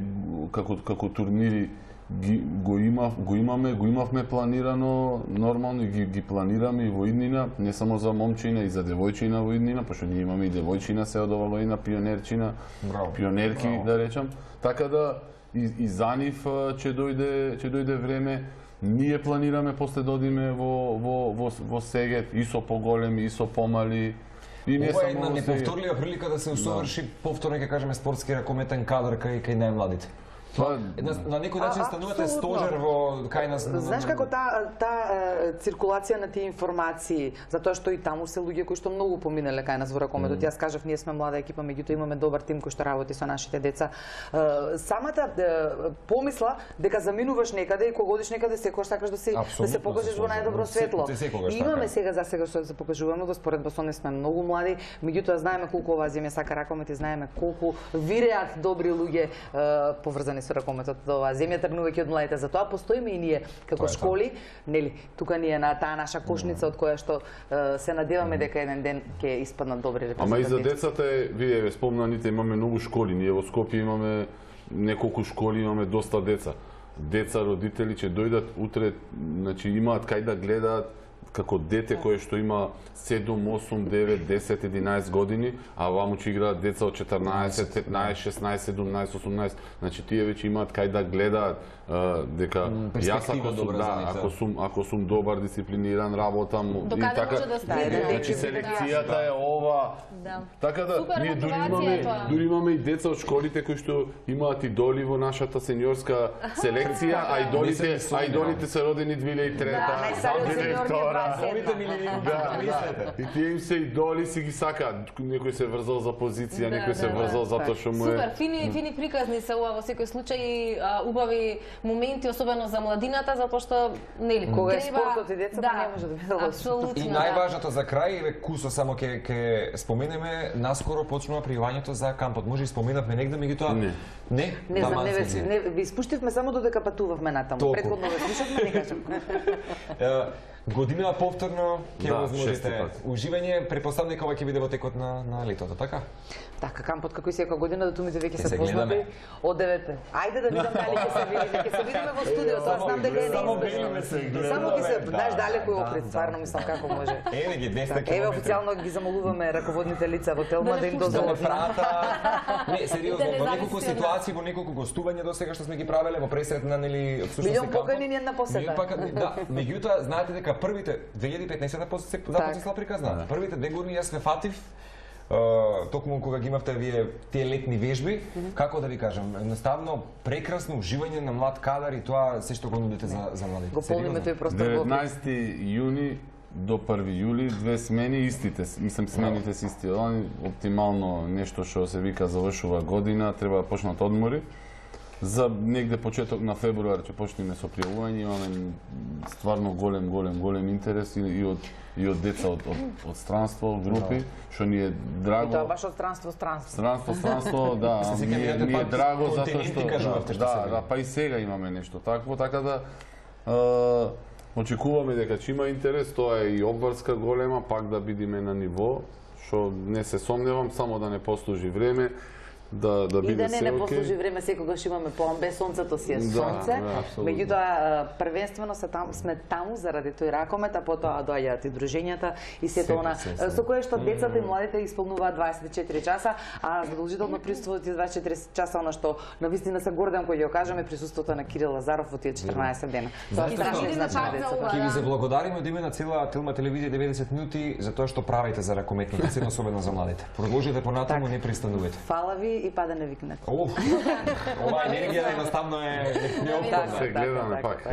како турнири го имавме планирано нормално и ги планираме и во иднина, не само за момчина и за девојчина во иднина, пошто ние имаме и девојчина се од ова година, пионерки да речам. Така да и за нив ќе дојде време. Ние планираме после да одиме во Сегет и со поголеми и со помали. Ова е една неповторлива прилика да се усоврши повторно, ќе кажеме, спортски ракометен кадар кај најмладите. На некој начин станувате стожер во кај нас. Знаеш како таа циркулација на тие информации, затоа што и таму се луѓе кои што многу поминале кај нас во ракометот. Јас кажав, ние сме млада екипа, меѓутоа имаме добар тим кој што работи со нашите деца. Самата помисла дека заминуваш некаде и кога одиш некаде секогаш сакаш да се покажеш во најдобро светло. И имаме сега што да се покажуваме, во споредба со не сме многу млади, меѓутоа знаеме колку оваа земја сака ракомет и знаеме колку виреат добри луѓе поврзани со ракометот до оваа земја, тргнувајќи од младите. Затоа постоиме и ние како школи, нели, тука ни е на таа наша кошница од која што се надеваме дека еден ден ќе испаднат добри репрезентативци. Ама и за децата вие спомнаните, имаме многу школи, ние во Скопје имаме неколку школи, имаме доста деца. Деца, родители ќе дојдат утре, значи имаат кај да гледаат како дете кое што има 7, 8, 9, 10, 11 години, а ваму ќе играат деца од 14, 15, 16, 17, 18. Значи тие веќе имаат кај да гледаат дека јас ако сум добар, дисциплиниран, работам и така. Значи селекцијата е ова. Така да ние дури имаме и деца од школите кои што имаат идоли во нашата сениорска селекција, а идолите се родени 2003-та, 2002-та. И тие им се идоли, си ги сакаат. Некој се врзал за позиција, некој се врзал затоа што му е... Супер, фини приказни се ова во секој случај, убави моменти, особено за младината, затоа што нели кога е спортот и децата не може да биде лошо. И најважното за крај, кусо само ќе споменеме, наскоро почнува пријавањето за кампот. Може и споменавме негде, меѓутоа не знам, ви испуштивме само додека патувавме натаму. Претходно ве слушавме, не кажам. Година повторно ќе возможите уживање, претпоставам дека ова ќе биде во текот на летото, така? Така, кампот како и секоја година, датумите веќе се познати од 9. Ајде да видам дали ќе се видиме, ќе се видиме во студиото, аз знам дека е неизбежно. Само ќе се, знаеш, далеко е Охрид, стварно мислам како може. Еве ги 200 км. Еве официјално ги замолуваме раководните лица во Телма да им дозволат. Не, сериозно, во неколку ситуации, во неколку гостувања досега што сме ги правеле во пресрет на нели всушност кампот. Покани ни една посета. Да, меѓутоа знаете дека првите 2015-та започна приказна. Првите 2 години јас ме фатив токму кога ги имавте вие тие летни вежби, како да ви кажам, едноставно прекрасно уживање на млад кадар и тоа се што го нудите за младите. Го полниме тој простор. 19 јуни до 1 јули 2 смени истите, мислам смените се исти. Оптимално нешто што се вика завршува година, треба да почнат одмори. За негде почеток на февруар ќе почнеме со пријавување, имаме стварно голем интерес и од деца од странство, групи, што ни е драго. И тоа баш од странство. Странство, да, ни е драго затоа што да, па и сега имаме нешто такво, така да очекуваме дека ќе има интерес, тоа е и обврска голема, пак да бидеме на ниво, што не се сомневам, само да не послужи време. Да биде се окей. И да не послужи време, секогаш имаме план, без сонцето си е сонце. Меѓутоа првенствено сме таму заради тој ракомет, а потоа доаѓаат и дружењата и сето она со кое што децата и младите исполнуваат 24 часа, а задолжително присуствуваат и 24 часа, она што навистина се гордам кој ќе кажеме присуството на Кирил Лазаров во тие 14 дена. Тоа ќе ви заблагодариме од име на цела Телма телевизија 90 минути за тоа што правите за ракометната сцена, особено за младите. Продолжите понатаму, не пристанувате. Фала ви и па да не викнете. Ова енергија едноставно е неопходна. Се гледаме пак.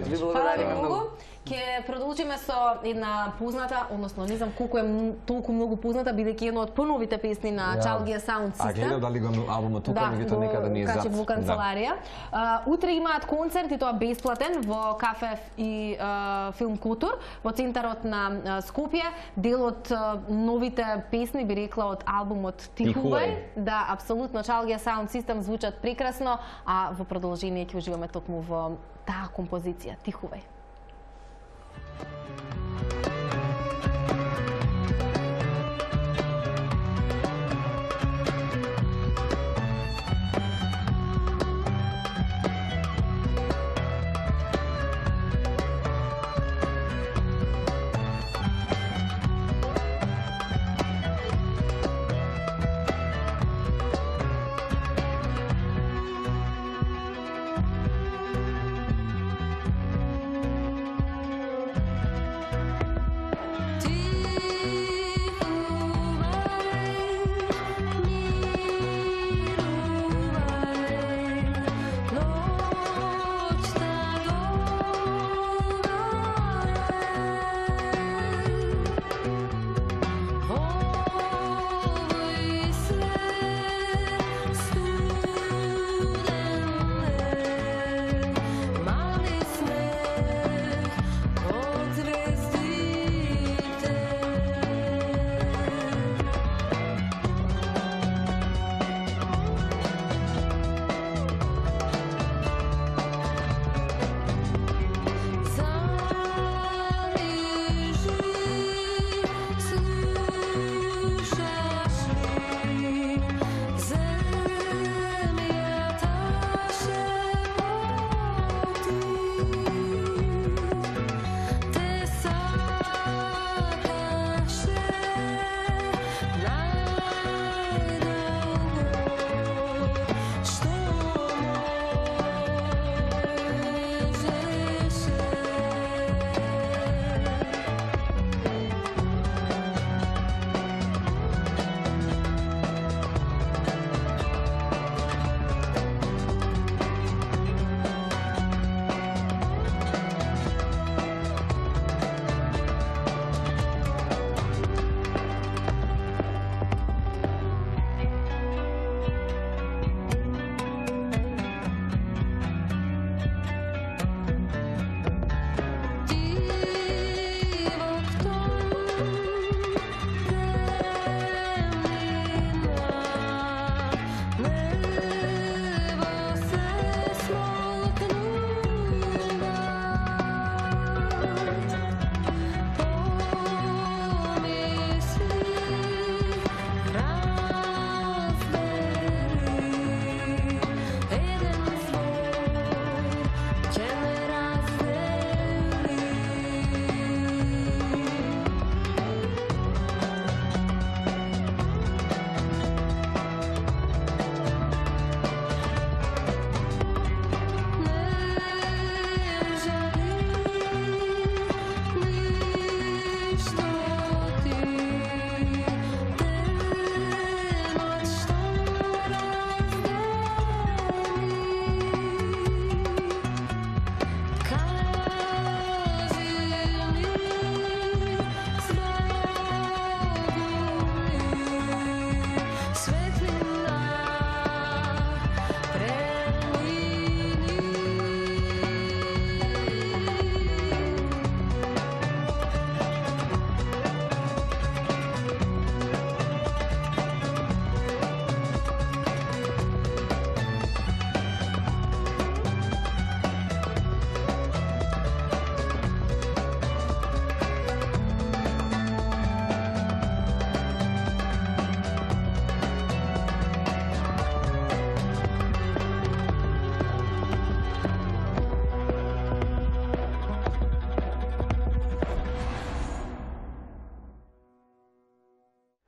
Ви благодарам многу. Ќе продолжиме со една позната, односно не знам колку е толку многу позната, бидејќи една од поновите песни на Chalgia Sound System. А гледам дали го албумот тука, меѓутоа некаде не е зад. Во канцеларија. Утре имаат концерт и тоа бесплатен во кафе и филм Кутур во центарот на Скопје. Дел од новите песни би рекла од албумот Тихувај. Да, апсолутно Chalgia Sound System звучат прекрасно, а во продолжение ќе уживаме токму во таа композиција Тихувај.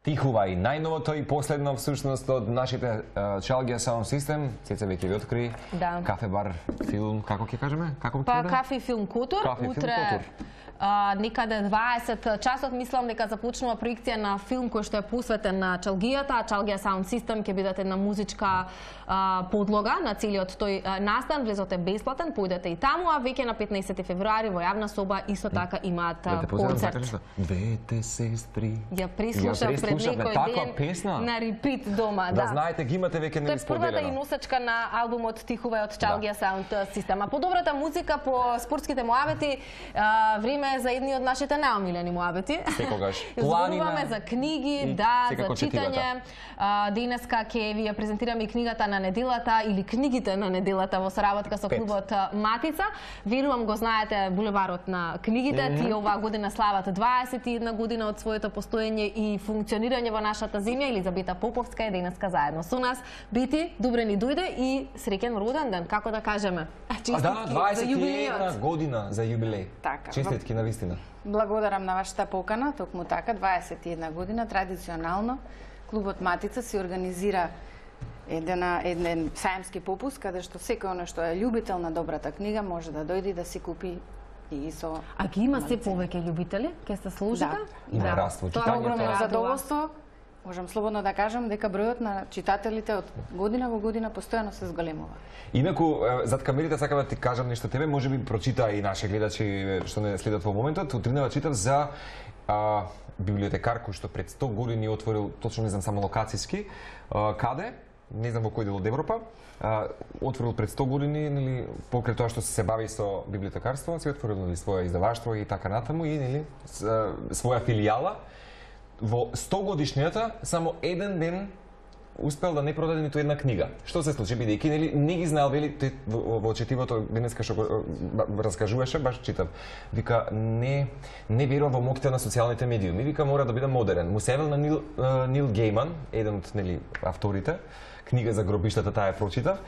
Тихува и најновото и последно всушност од нашите Chalgia Sound System. Цеца веќе ви откри. Да. Кафе бар филм, како ќе кажеме? Кафе филм Кутур. Утре некаде 20 часот мислам дека започнува проекција на филм кој што е посветен на чалгијата. Chalgia Sound System ќе бидат една музичка подлога на целиот тој настан. Влезот е бесплатен, појдете и таму, а веќе на 15 февруари во јавна соба исто така имаат концерт. Двете сестри. Ја преслушав пред некој ден на репит дома. Да знаете, ги имате веќе не споделено. Тоа е првата и носачка на албумот Тихува од Chalgia Sound System. А по добрата музика, по спортските муабети, време е за едни од нашите најомилени муабети. Секогаш. Зборуваме за книги, да, за читање. Денеска ќе ви ја презентираме и книгата на неделата или книгите на неделата во соработка со клубот Матица. Верувам го знаете булеварот на книгите. Тие оваа година слават 21 година од своето постоење и функционирање во нашата земја. Елизабета Поповска е денеска заедно со нас. Бити, добре ни дојде и среќен роден ден, како да кажеме. Да, 21 година за јубилеј. Така. Честитки на вистина. Благодарам на вашата покана, токму така, 21 година, традиционално, клубот Матица си организира еден саемски попуст, каде што секој оно што е љубител на добрата книга може да дојде и да си купи и со... А ги има се повеќе ljubители? Ке се служите? Да. Има раство читањето. Тоа е огромно задоволство. Можам слободно да кажам дека бројот на читателите од година во година постојано се зголемува. Инаку, зад камерите сакам да ти кажам нешто тебе, може би прочита и наши гледачи што не следат во моментот. Утринава читав за библиотекар кој што пред 100 години отворил, точно не знам само локацијски, каде, не знам во кој дел од Европа, отворил пред 100 години, нели, покрај тоа што се бави со библиотекарство, се отворил нели своја издаваштво и така натаму и нели своја филијала. Во 100 годишнината само еден ден успел да не продаде ниту една книга. Што се случи бидејќи нели не ги знаел вели во четивото денеска што го раскажуваше, баш читав. Вика не верува во моќта на социјалните медиуми. Вика мора да биде модерен. Му севел на Нил Гейман, еден од нели авторите, книга за гробиштата таа ја прочитав.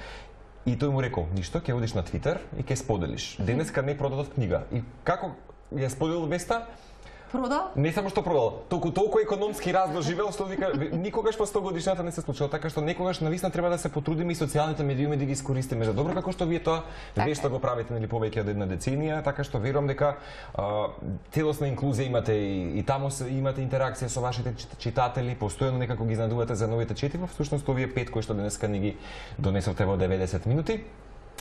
И тој му рекол, ништо, ќе одиш на Твитер и ќе споделиш. Денеска не продадов книга. И како ја споделил веста? Продал? Не само што продал, толку економски раз доживел што вика никогаш по 100 годишната не се случило, така што некогаш навистина треба да се потрудиме и социјалните медиуми да ги искористиме за добро, како што вие тоа вешто го правите нели повеќе од една деценија, така што верувам дека целосна инклузија имате и таму имате интеракција со вашите читатели, постојано некако ги изненадувате за новите четива, всушност овие 5 кои што денеска ни ги донесовте во 90 минути.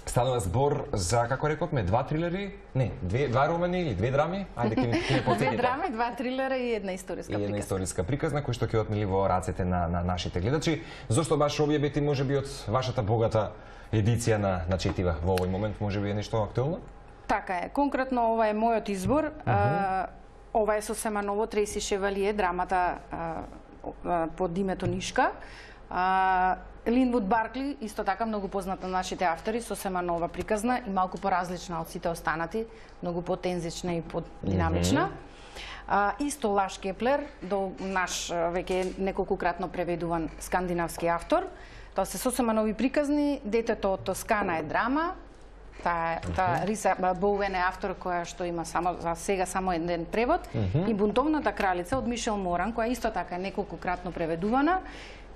Станува збор за, како рековме, 2 трилери, не, 2 романи или 2 драми, ајде ќе ми потсетите. 2 драми, 2 трилера и една историска приказна. И една историска приказна, кој што ќе отнели во рацете на нашите гледачи. Зошто баш овие бети можеби од вашата богата едиција на четива во овој момент, можеби е нешто актуелно? Така е, конкретно ова е мојот избор. Ова е сосема ново, Треси Шевалие, драмата под името Нишка. Линвуд Баркли, исто така многу познат на нашите автори, сосема нова приказна и малку поразлична од сите останати, многу потензична и подинамична. Исто Лаш Кеплер, до наш веќе неколкукратно преведуван скандинавски автор. Тоа се сосема нови приказни, Детето од Тоскана е драма. Таа Риса Боуен е автор која што има за сега само еден превод. И Бунтовната кралица од Мишел Моран, која исто така е неколкукратно преведувана.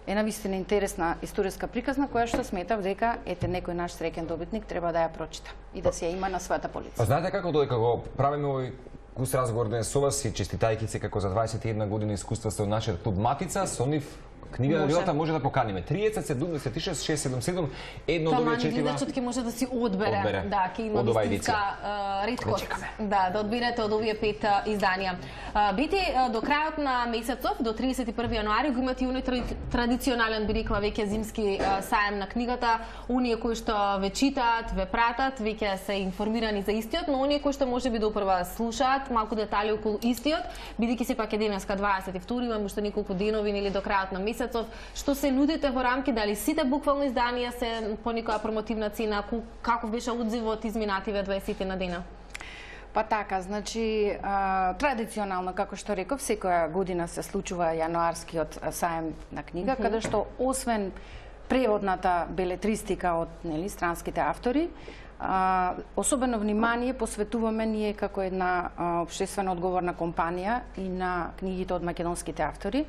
Е навистина интересна историска приказна која што сметав дека некој наш среќен добитник треба да ја прочита и да се ја има на својата полица. Знаете како додека го правиме овој густ разговор денес со вас и честитајки се како за 21 години искуства со нашиот клуб Матица, со нив книга на неделата може да поканиме 3076 677 едно од овие четива. Гледачот ќе може да си одбере. Да, ќе има вистинска реткост. Да, да одберете од овие 5 изданија. Бити до крајот на месецов, до 31 јануари, го имате и оној традиционален, би рекла, веќе зимски саем на книгата. Оние кои што ве читаат, ве пратат, веќе се информирани за истиот, но оние кои што можеби допрва слушаат малку детали околу истиот, бидејќи сепак е денеска 22, имаме уште неколку денови или до крајот на месецов, што се нудите во рамки, дали сите буквално изданија се по некоја промотивна цена, каков беше одзивот изминативе 20 на дена? Па така, значи, традиционално, како што реков, секоја година се случува јануарскиот саем на книга, каде што освен преводната белетристика од странските автори, особено внимание посветуваме ние како една општествено одговорна компанија и на книгите од македонските автори.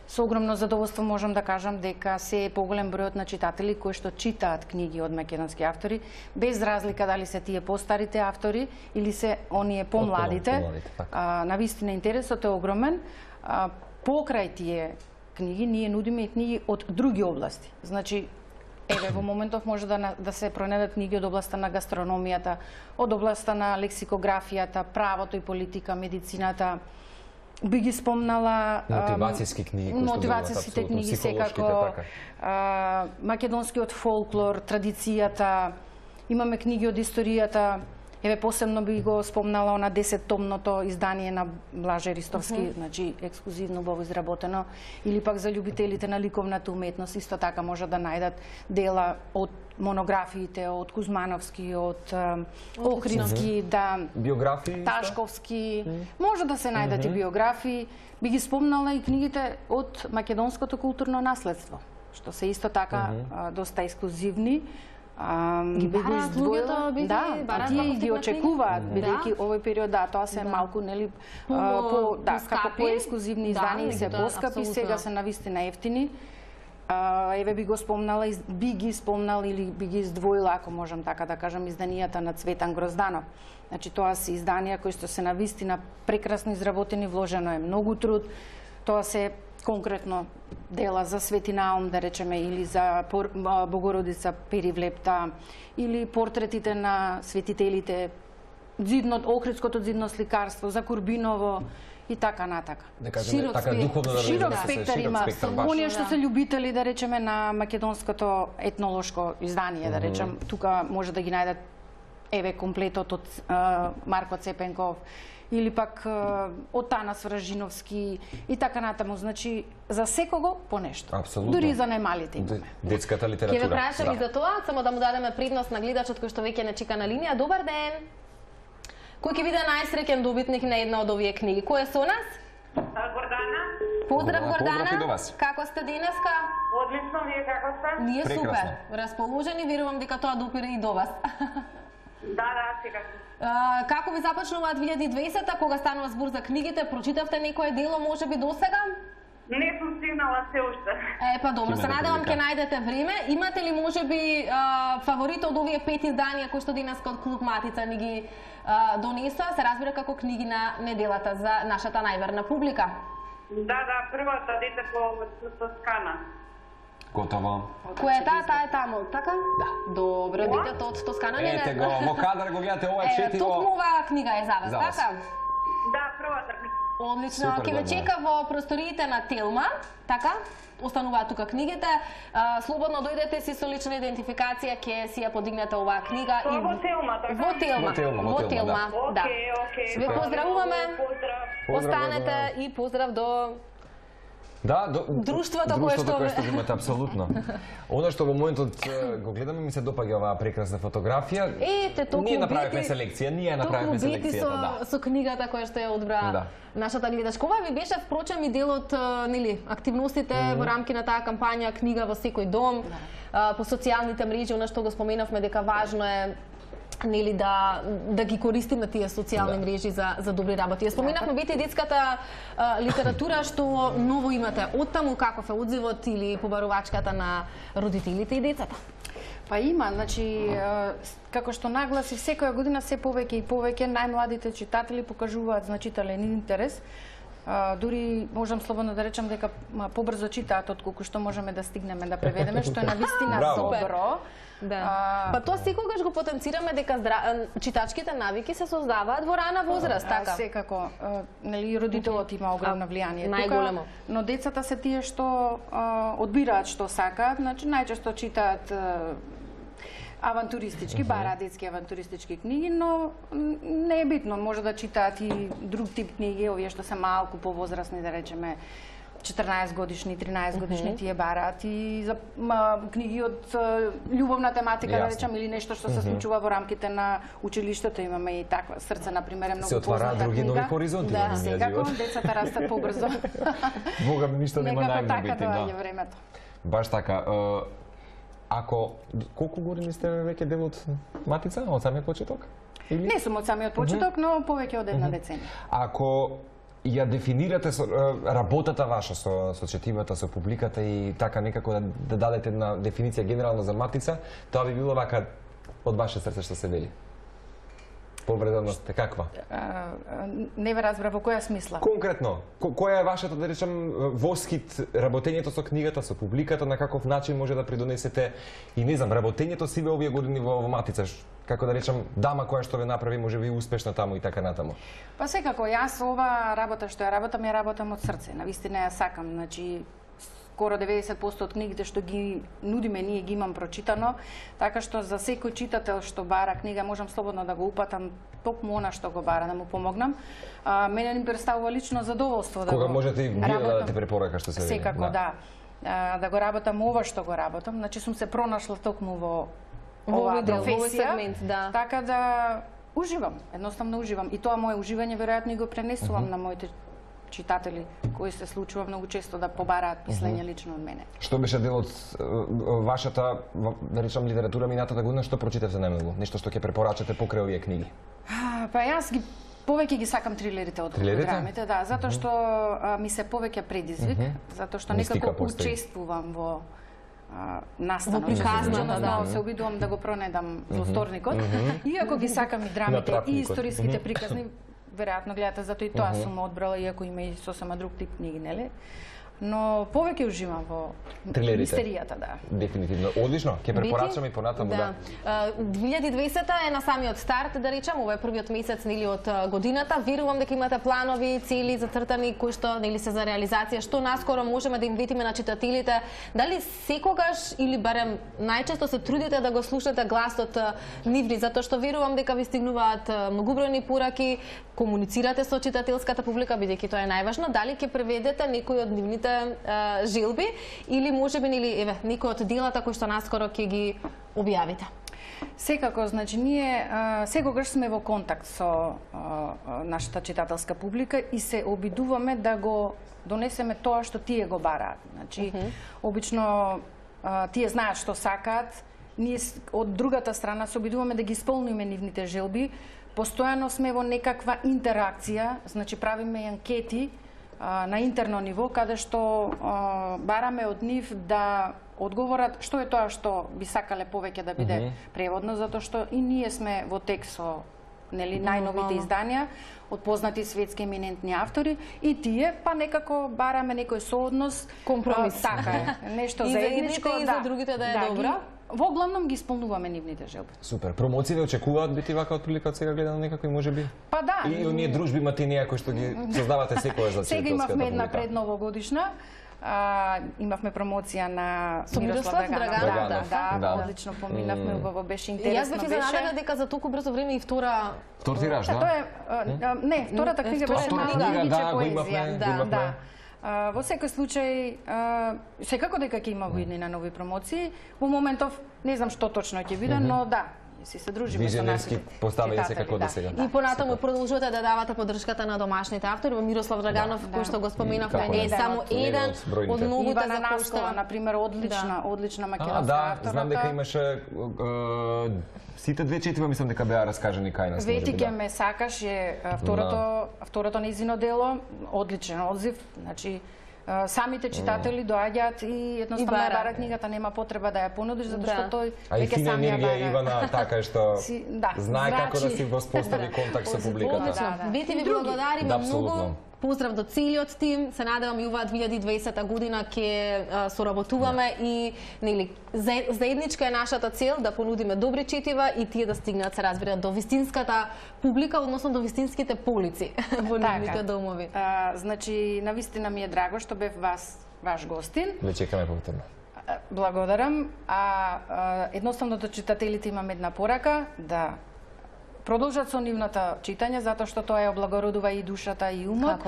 Со огромно задоволство можам да кажам дека се е поголем бројот на читатели кои што читаат книги од македонски автори, без разлика дали се тие постарите автори или се оние помладите. Навистина интересот е огромен. Покрај тие книги ние нудиме и книги од други области. Значи, еве во моментов може да се пронедат книги од областа на гастрономијата, од областа на лексикографијата, правото и политика, медицината. Би ги спомнала мотивацијски книги, мотивацијските книги секако, македонскиот фолклор, традицијата, имаме книги од историјата. Еве посебно би го спомнала она 10-томното издание на Блаже Ристовски, значи ексклузивно убаво изработено, или пак за љубителите на ликовната уметност, исто така може да најдат дела од монографиите, од Кузмановски, од Охридски, да, биографии, Ташковски, може да се најдат и биографии. Би ги спомнала и книгите од македонското културно наследство, што се исто така доста ексклузивни. Ги бараат луѓето, тие ги очекуваат, бидејќи овој период, тоа се малку, нели, како поексклузивни издания се поскапи, сега се навистина ефтини. Еве би го спомнала, би ги спомнал или би ги издвоила, ако можам така да кажам, изданијата на Цветан Грозданов. Значи, тоа се изданија кои што се навистина прекрасно изработени, вложено е многу труд. Тоа се конкретно дела за Свети Наум, да речеме, или за Богородица Перивлепта, или портретите на светителите, Охридското дзидно сликарство, за Курбиново и така натака. Широк спектар има. Оние што се љубители, да речеме, на македонското етнолошко издание, да речем, тука може да ги најдат еве комплетот од Марко Цепенков, или пак од Танас Вражиновски и така натаму. Значи, за секого по нешто. Апсолутно. Дури за најмалите имаме. Детската литература. Ќе ве прашам и за тоа, само да му дадеме предност на гледачот кој што веќе не чека на линија. Добар ден! Кој ќе биде најсреќен добитник на една од овие книги? Кој е со нас? Гордана. Поздрав, Гордана. Поздрав и до вас. Како сте денеска? Одлично, вие како сте? Ние супер. Расположени, верувам дека тоа допира и до вас. Да, секако. Како ви започнува 2020-та, кога станува збор за книгите, прочитавте некое дело можеби досега? Не сум стигнала се уште. Па добро, се надевам ќе најдете време. Имате ли можеби фаворит од овие 5 изданија кои што денеска од Клуб Матица ни ги донесоа, се разбира како книги на неделата за нашата најверна публика? Да, првата дете по Тоскана. Готово. Која е таа? Таа е таму, така? Да. Добро, детето од Тоскана не. Ете го, во кадар го гледате, ова четиво. Токму оваа книга е за вас, така? Да, првата книга. Одлично, ќе ве чека во просториите на Телма, така? Остануваат тука книгите. Слободно дојдете си со лична идентификација, ќе си ја подигнете оваа книга. Во Телма, така? Во Телма, да. Окей. Ве поздравуваме. Поздрав. Останете и поздрав до друштвото кое што имате, апсолутно. Оно што во моментот го гледаме, ми се допаѓа оваа прекрасна фотографија. Ние направивме селекцијата, со книгата која што ја одбра нашата гледачка. Ова ви беше впрочем и дел од активностите во рамки на таа кампања Книга во секој дом, по социјалните мрежи, она што го споменавме дека важно е нели да ги користиме тие социјални мрежи за добри работи. Ја споменавме бите детската литература што ново имате. Оттаму каков е одзивот или побарувачката на родителите и децата? Па има, значи како што нагласи секоја година се повеќе и повеќе најмладите читатели покажуваат значителен интерес. Дури можам слободно да речам дека побрзо читаат отколку што можеме да стигнеме да преведеме, што е навистина добро. Да. Па тоа секогаш го потенцираме дека читачките навики се создаваат во рана возраст, така? Секако, нели родителот има огромно влијание тука, но децата се тие што одбираат што сакаат, значи најчесто читаат авантуристички, бараат детски авантуристички книги, но не е битно, може да читаат и друг тип книги, овие што се малку повозрастни, да речеме 14 годишни, 13 годишни тие бараат и за книги од љубовна тематика, да речем, или нешто што се случува во рамките на училиштето. Имаме и таква Срце, например, е многу позната книга. Се отвараат други нови хоризонти во нивниот живот. Секако, децата растат побрзо. Бога ми ништо нема најмно бити. Некако така доаѓа времето. Баш така. Колку години сте веќе дел од Матица, од самиот почеток? Не сум од самиот почеток, но повеќе од една деценија. Ако ја дефинирате работата ваша со четивата, со публиката и така некако да дадете една дефиниција генерална за Матица, тоа би било вака од ваше срце што се вели. Повреденост е каква? Не ве разбрав во која смисла. Конкретно, која е вашата, да речем, воскит работењето со книгата, со публиката, на каков начин може да придонесете и не знам, работењето сиве овие години во Матица, како да речем, дама која што ве направи можеби успешна таму и така натаму. Па секако, јас ова работа што ја работам од срце, навистина ја сакам, значи скоро 90% од книгите што ги нудиме ние ги имам прочитано, така што за секој читател што бара книга можам слободно да го упатам токму она што го бара, да му помогнам. Мене ми представува лично задоволство да кога можете и вие да дадете препорака што се вели. Секако, да. Да го работам ова што го работам, значи сум се пронашла токму во оваа професија, така да уживам, едноставно уживам. И тоа мое уживање веројатно и го пренесувам на моите читатели кои се случува многу често да побараат писање лично од мене. Што беше дел од вашата, да речам, литература минатата година, што прочитавте најмногу? Нешто што ќе препорачате покрај овие книги? Па јас повеќе ги сакам трилерите од драмите, да, затоа што ми се повеќе предизвик, затоа што некако учествувам во настанот. Во приказната, да. Се обидувам да го пронедам во вторникот. Иако ги сакам и драмите и историските приказни, веројатно гледате, затоа и тоа сум одбрала, иако има и сосема друг тип книги, нели? Но повеќе уживам во мистеријата, да. Дефинитивно. Одлично, ќе препорачаме и понатаму, да. 2020 е на самиот старт, да речам, ова е првиот месец нели од годината. Верувам дека имате планови, цели зацртани кои што нели се за реализација. Што наскоро можеме да им ветиме на читателите? Дали секогаш или барем најчесто се трудите да го слушате гласот нивни, затоа што верувам дека ви стигнуваат многубројни пораки, комуницирате со читателската публика, бидејќи тоа е најважно. Дали ќе преведете некој од нивните желби или можеби нели некој од делата кои што наскоро ќе ги објавите? Секако, значи ние секогаш сме во контакт со нашата читателска публика и се обидуваме да го донесеме тоа што тие го бараат. Значи обично тие знаат што сакаат, ние од другата страна се обидуваме да ги исполниме нивните желби. Постојано сме во некаква интеракција, значи правиме анкети на интерно ниво, каде што бараме од нив да одговорат што е тоа што би сакале повеќе да биде преводно, затоа што и ние сме во тек со нели најновите изданија од познати светски еминентни автори и тие па некако бараме некој сооднос, компромис. Така е, нешто заедничко, и за другите да е добро. Во главном ги исполнуваме нивните желби. Супер. Промоциите очекуваат бити вака од прилика од сега гледано некако и можеби? Па да. И оние дружби матинија кои што ги создавате секојаш за читателската публика. Сега имавме една предновогодишна. Имавме промоција на Мирослав Драганов. Да, одлично поминавме, убаво беше интересно. Јас бев изненадена дека за толку брзо време и втора тираж, да? Не, втората книга беше книга, го имавме. Да. Во секој случај, секако дека ќе има во иднина нови промоции. Во моментов не знам што точно ќе биде, но да, си се дружиме со нашите поставени секако до сега. И понатаму продолжувате да давате поддршката на домашните автори, во Мирослав Драганов, кој што го споменавме, не е само еден од многуте за кои што, на пример, одлична македонска авторка. Да, знам дека имаше сите две четива, мислам дека беа раскажани кај нас. Ветике ме сакаш е второто нејзино дело, одличен одзив, значи самите читатели доаѓаат и едноставно ја бара книгата, нема потреба да ја понудиш, затоа што тој веќе сам ја бара. Ивана така што знае како да си воспостави контакт со публиката. Веќе ви благодариме многу. Поздрав до целиот тим, се надевам и оваа 2020 година ќе соработуваме и нели заедничка е нашата цел да понудиме добри четива и тие да стигнат, се разбира, до вистинската публика, односно до вистинските полици во нивните домови. Значи, навистина ми е драго што бев ваш гостин. Ве чекаме повторно. Благодарам. Едноставно до читателите имам една порака да продолжат со нивната читање, затоа што тоа ја облагородува и душата и умот.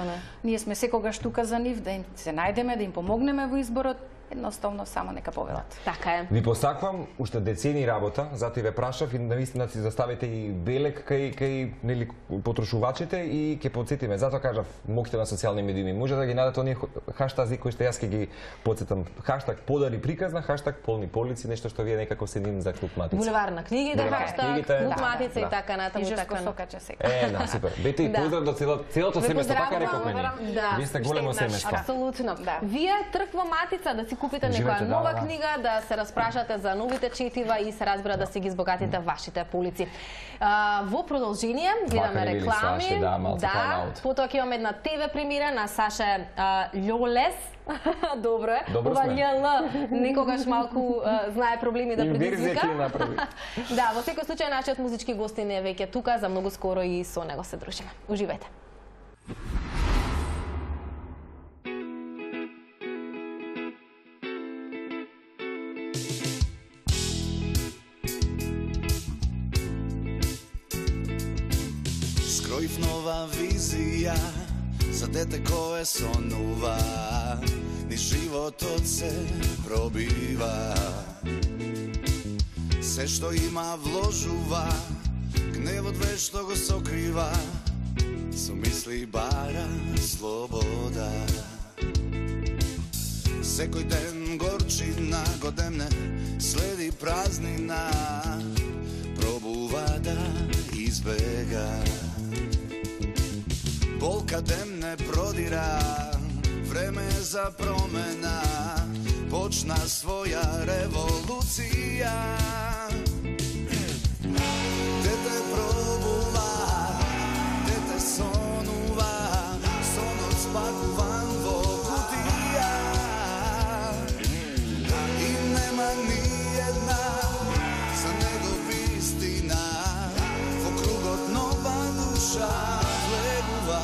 Ние сме секогаш тука за нив, да им се најдеме, да им помогнеме во изборот едноставно само нека повелат. Така е. Ви посаквам уште децени работа, затоа ве прашав и навистина си заставите и белек кај нели потрошувачите и ќе потсетиме. Затоа кажав моќта на социјални медии. Може да ги најдете оние хаштази кои што јас ќе ги потсетам. Хаштаг подари приказна, хаштаг полни полици, нешто што вие некако се ним за Клуб Матица. Булевар на книгите, хаштаг Клуб Матица и така натаму и така. сокаче сега. Да, супер. Бете и поздрав до целото семејство, така рековме ни. Вие сте големо семејство. Апсолутно. Вие трква Матица да си купите некоја нова книга, да се распрашате за новите четива и се разбира да си ги избогатите вашите полици. Во продолжение гледаме реклами. Потоа ќе имаме една ТВ премиера на Саше Љолес. Добро е. Ова љл некогаш малку знае проблеми да предизвика. Да, во секој случај нашиот музички гостин е веќе тука, за многу скоро и со него се дружиме. Уживајте. Скроив нова визија за дете кое сонува, ни животот се пробива. Се што има вложува, гневот вешто го сокрива, со мисли бара слобода. Секој ден горчина го демне, следи празнина, пробува да избега. Болка дем не продира, време е за промена, почна своја револуција. Дете пробува, дете сонува, сонот спакуван во кутија. И нема ни една за него вистина, во кругот нова душа влегува.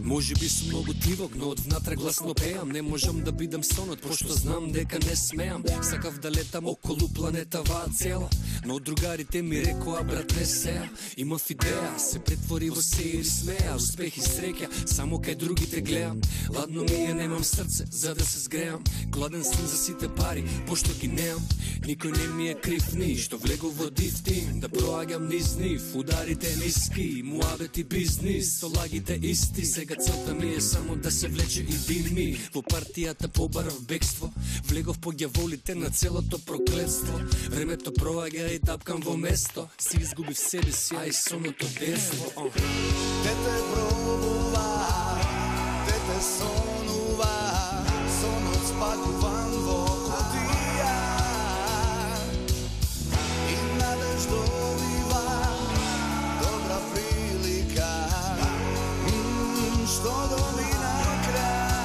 Може би сум многу тивок, но од внатре гласно пеам. Не можам да бидам сонот, пошто знам дека не смеам. Сакав да летам околу планетава цела, но другарите ми рекоа, брат, не сеа. Имав идеја, се претвори во се или смеа. Успех и среќа, само кај другите гледам. Ладно ми е, немам срце, за да се сгреам. Гладен сум за сите пари, пошто ги неам. Никој не ми е крив ни, што влегов во дифтим. Да проаѓам низ нив, ударите ниски, муабет и бизнис, со лагите исти. Сега целта ми е само да се влече и дими. Во партијата побарав бегство, влегов по ѓаволите на целото проклетство. Времето проаѓа и тапкам во место, си изгубив себе си, а и соното детство. Дете пробува, дете сонува, сонот спакуван во кутија. И надеж добива добра прилика, што домина крај.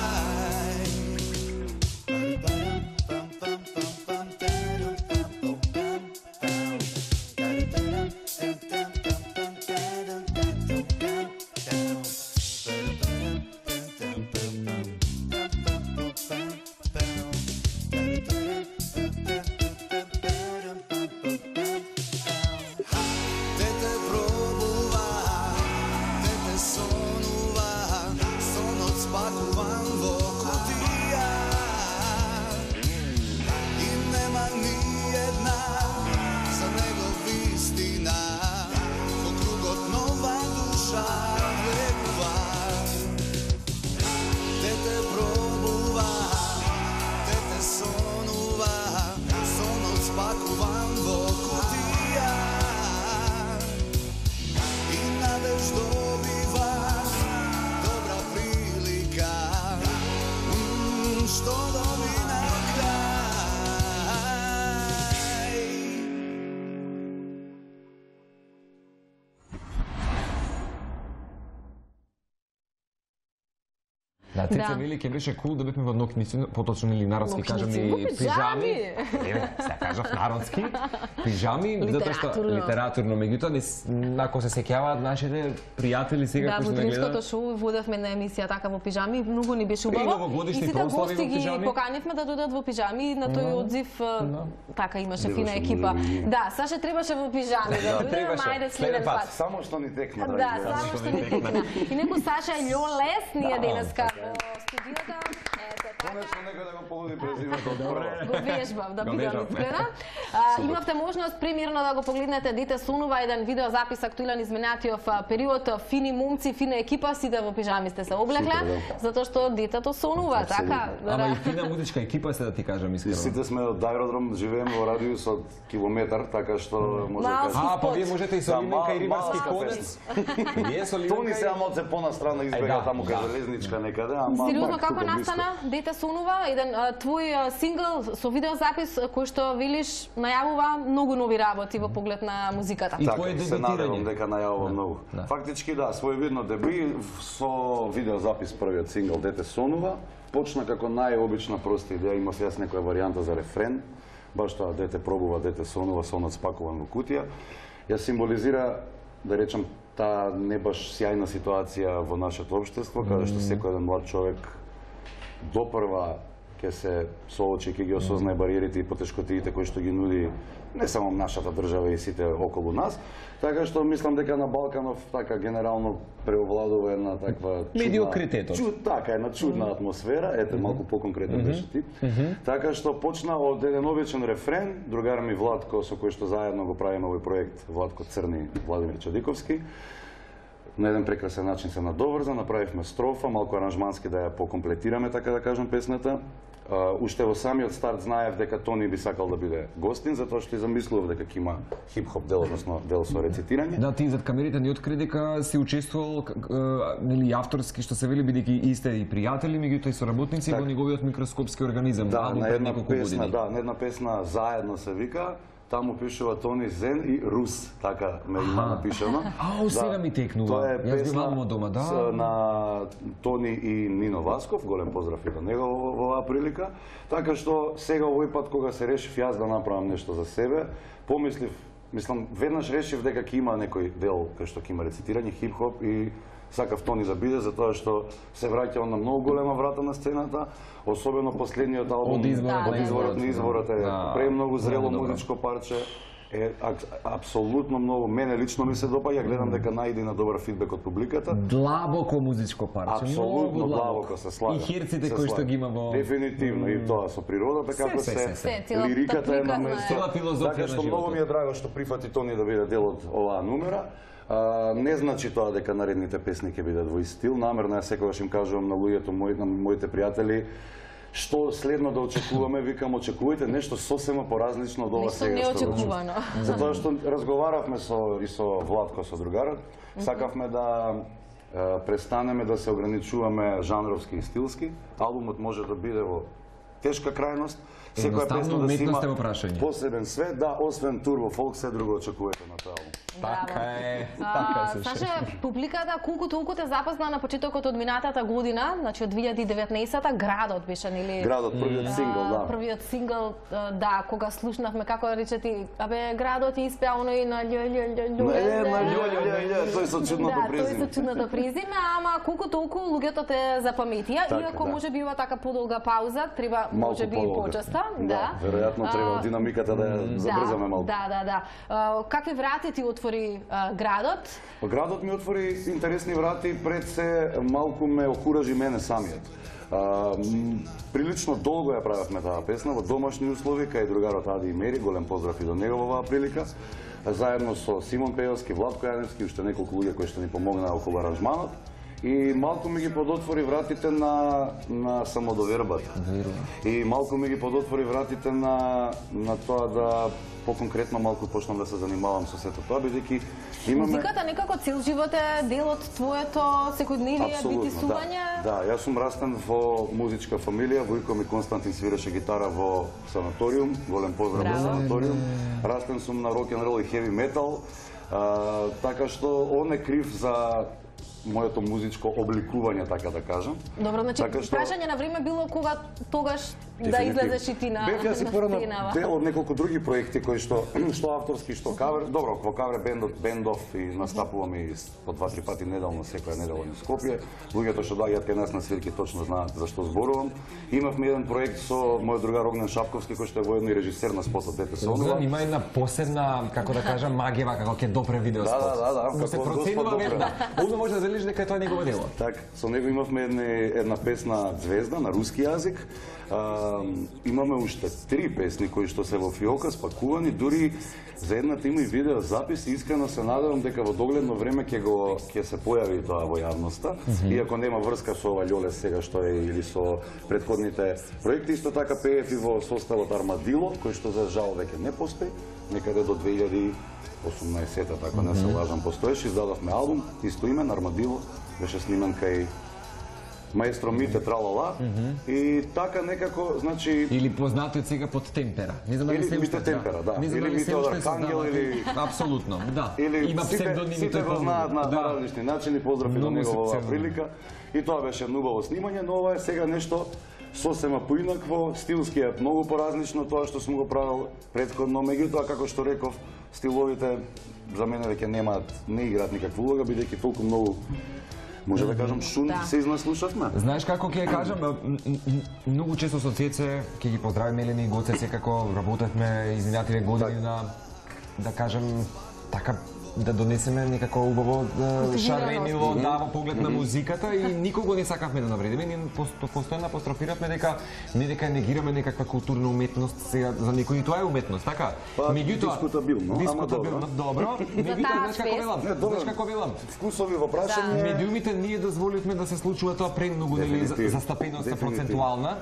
Да, Цеца вели ќе беше кул да бевме во нокници, поточно или народски кажеме пижами. Се кажав народски. Пижами, затоа што литературно, меѓутоа ако се сеќаваат нашите пријатели сега кои што не гледаат. Да, во Тримското шоу водевме на емисија така во пижами, многу ни беше убаво. И сите гости ги поканевме да дојдат во пижами и на тој одзив така имаше фина екипа. Да, Саша требаше во пижами да дојде, мајде следен пат. Само што ни текна. Да, само што ни текна. И некој Саша Љолес ние денеска во студиото. Конечно некој да го погоди презимето од прва. Го вежбав, да бидам искрена. Имавте можност премиерно да го погледнете Дете сонува, еден видео запис актуелен изминатиот период, фини момци, фина екипа, сите во пижами сте се облекле, затоа што детето сонува, така. Ама и фина музичка екипа се да ти кажам искрено. Сите сме од аеродром, живееме во радиус од километар, така што може да па вие можете и со Ливенка и Рибарски конец. Вие со Ливенка. Тони се малце понастрана избега таму кај железничка некаде, ама сериозно како настана Дете сонува, еден твој сингл со видеозапис кој што велиш најавува многу нови работи во поглед на музиката. И твое се надевам дека најавува многу. Фактички да, своевидно деби со видеозапис првиот сингл Дете сонува, почна како најобична проста идеја, имав јас некоја варијанта за рефрен, баш тоа дете пробува, дете сонува, сонот спакуван во кутија. Ја символизира, да речем, таа не баш сјајна ситуација во нашето општество, каде што секој еден млад човек допрва ќе се соочи, ќе ги осознае бариерите и потешкотиите кои што ги нуди не само нашата држава и сите околу нас, така што мислам дека на Балканов така генерално преовладува една таква медиокритетот. Така една чудна атмосфера, ете малку поконкретно беше ти. Така што почна од еден обичен рефрен, другар ми Владко со кој што заедно го правиме овој проект, Владко Црни, Владимир Чадиковски. На еден прекрасен начин се надоврза, направивме строфа, малку аранжмански да ја покомплетираме, така да кажам, песната. Уште во самиот старт знаев дека Тони би сакал да биде гостин, затоа што и замислував дека ќе има хип-хоп дел, односно дел со рецитирање. Да, ти зад камерите ни откри дека си учествувал нели авторски, што се вели бидејќи и сте и пријатели, меѓутоа и соработници во неговиот микроскопски организам. Да, на една песна, на една песна заедно се вика. Таму пишува Тони Зен и Рус, така ме има напишано. Сега ми текнува. Тоа е песна дома, на Тони и Нино Васков, голем поздрав и до него во оваа прилика. Така што сега овој пат кога се решив јас да направам нешто за себе, помислив, мислам, веднаш решив дека ќе има некој дел кај што ќе има рецитирање, хип-хоп и сакав Тони да биде, затоа што се враќа на многу голема врата на сцената, особено последниот албум од изворот на изворот е премногу зрело музичко парче, е апсолутно многу, мене лично ми се допаѓа, гледам дека најде на добар фидбек од публиката. Длабоко музичко парче, апсолутно длабоко се слага. И херците кои што ги има во дефинитивно и тоа со природата како се лириката е на место. Така што многу ми е драго што прифати Тони да биде дел од оваа номера. Не значи тоа дека наредните песни ќе бидат во ист стил. Намерно ја секогаш им кажувам на луѓето мои, на моите пријатели, што следно да очекуваме, викам очекувајте нешто сосема поразлично од ова сега што го чуваме. Затоа што разговаравме и со Владко, со другарот, сакавме да престанеме да се ограничуваме жанровски и стилски. Албумот може да биде во тешка крајност, секоја песна да си има посебен свет, да, освен турбо фолк, се друго очекувате на тој албум. Така е, Саша, публиката колку толку те запозна на почетокот од минатата година, значи од 2019-та, Градот беше, нели? Градот, првиот сингл, да. Првиот сингл, да, кога слушнавме како рече ти, Градот испеа оној на тој со чудното презиме. Тој со чудното презиме, ама колку толку луѓето те запаметија, иако можеби ова така подолга пауза, треба можеби и почеста, да. Веројатно треба динамиката да ја забрзаме малку. Да. Какви врати ти отвори Градот? Градот ми отвори интересни врати, пред се малку ме окуражи мене самиот. Прилично долго ја правевме таа песна во домашни услови, кај другарот Ади и Мери, голем поздрав и до него во оваа прилика, заедно со Симон Пејовски, Владко Јаневски, уште неколку луѓе кои што ни помогнаа околу аранжманот. И малку ми ги подотвори вратите на самодовербата. И малку ми ги подотвори вратите на тоа да поконкретно малку почнам да се занимавам со сето тоа, бидејќи имаме... Музиката некако цел живот е дел од твоето секојдневие, битисување? Да, јас сум растен во музичка фамилија, Војко ми Константин свиреше гитара во Санаториум, голем поздрав во Санаториум. Растен сум на рок н рол и хеви метал, така што он е крив за моето музичко обликување, така да кажам. Добро, значи прашање на време било кога тогаш да излезеш и ти на сцена. Бев јас и порано дел од неколку други проекти кои што авторски, што кавер. Добро, во кавер бендов и настапуваме и по 2-3 пати неделно, секоја недела во Скопје. Луѓето што доаѓаат кај нас на свирки точно знаат за што зборувам. Имавме еден проект со мојот другар Огнен Шапковски, кој што е воедно и режисер на спотот Дете се онова. Има една посебна, како да кажам, магија како ќе допре видео спот. Да, се проценува одма може да велиш дека тоа е негово дело. Так, со него имавме една песна Звезда на руски јазик. Имаме уште 3 песни кои што се во фиока спакувани, дури за едната има и видео запис и искрено се надевам дека во догледно време ќе се појави тоа во јавноста, иако нема врска со ова Љоле сега што е или со претходните проекти. Исто така пеев и во составот Армадило, кој што за жал веќе не постои, некаде до 2018-та, така не се лажам, постоеше, издадовме албум, исто име, Армадило, беше снимен кај маестро Мите Тралала и така некако, значи... Или познатиот сега под Темпера. Не знам дали се уште Темпера, да. Или Мите од Архангел, или... Апсолутно, да. Има псевдоними. Сите го знаат на различни начини, поздрави до него во оваа прилика. И тоа беше убаво снимање, но ова е сега нешто сосема поинакво, стилски е многу поразлично тоа што сум го правил претходно, меѓутоа како што реков, стиловите за мене веќе не играат никаква улога, бидејќи толку многу, може да кажам, шум се изнаслушавме. Знаеш како ќе кажам, многу често со Цеце ќе ги поздравиме Елена и Гоце, секако работевме изминативе години на, да кажем, така да донесеме некако убаво шаренило, во поглед на музиката и никого не сакавме да навредиме, ние постојано апострофиравме дека не дека негираме некаква културна уметност, сега за некои и тоа е уметност, така? Меѓутоа дискутабилно, добро. Меѓутоа знаеш како велам? Вкусови во прашање. Медиумите ние дозволивме да се случува тоа премногу, нели, застапеноста процентуална.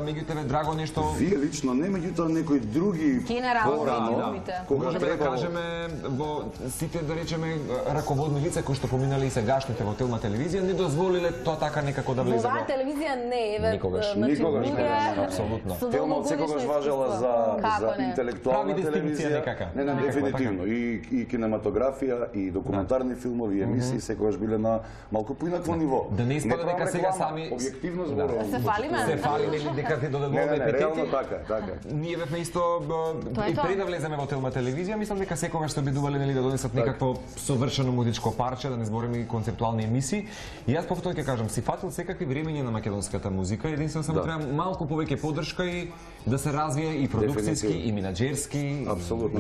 Меѓутоа драго нешто. Вие лично не, меѓутоа некои други порано, можеме да кажеме во сите, да речеме, раководни лица кои што поминале и сегашните во телна телевизија не дозволиле тоа така некако да влезе во... Оваа телевизија не е никогаш апсолутно. Телма секогаш важела за интелектуална телевизија. Не, дефинитивно. И кинематографија, и документарни филмови, и емисии секогаш биле на малку поинакво ниво. Да не испада дека сега сами објективно зборувам. Се фалиме. Се фалиме или дека ќе додадуваме епитети. Реално така. Ние бевме исто и пред да влеземе во телма телевизија, мислам дека секогаш се обидувале нели да донесат некакво совршено музичко парче, да не збориме и концептуални емисии. И јас повторно ќе кажам, си фатил секакви времења на македонската музика, единствено само треба малку повеќе поддршка и да се развие и продукцијски, и менаџерски,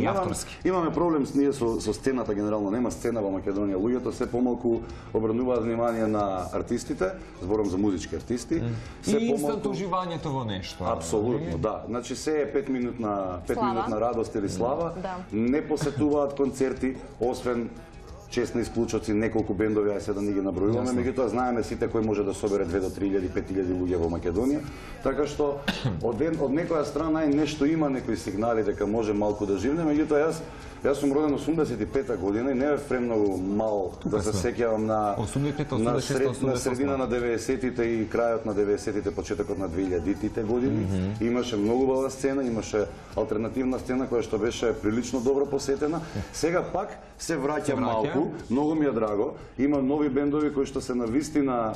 и авторски. Имаме проблем ние со сцената генерално, нема сцена во Македонија. Луѓето се помалку обрнуваат внимание на артистите, зборам за музички артисти. И инстант уживањето во нешто. Апсолутно, да. Значи се е 5 минутна радост или слава. Не посетуваат концерти, освен честни исклучоци, неколку бендови, ајде да не ги набројуваме, меѓутоа знаеме сите кој може да собере 2 до 3.000, 5.000 луѓе во Македонија. Така што од некоја страна нешто има, некои сигнали дека може малку да живне, меѓутоа јас сум роден 85-та година и не бев премногу мал да се сеќавам на средина на 90-тите и крајот на 90-тите, почетокот на 2000-тите години. Имаше многу бава сцена, имаше алтернативна сцена која што беше прилично добро посетена. Сега пак се враќа малку, многу ми е драго. Има нови бендови кои што се навистина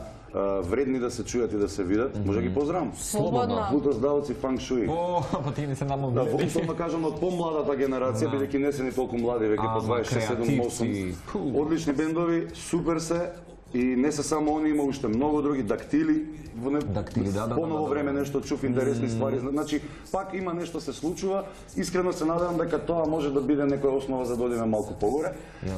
вредни да се чујат и да се видат. Може ги поздравам. Слободно. Футоздавци фанк шуи. Па ти не се намогли. Да, условно кажам од помладата генерација, бидејќи не се ни толку млади, веќе по 26-7-8. Одлични бендови, супер се. И не се само они, има уште многу други, Дактили, поново време нешто чув интересни ствари. Значи, пак има нешто се случува. Искрено се надевам дека тоа може да биде некоја основа за да одиме малку погоре.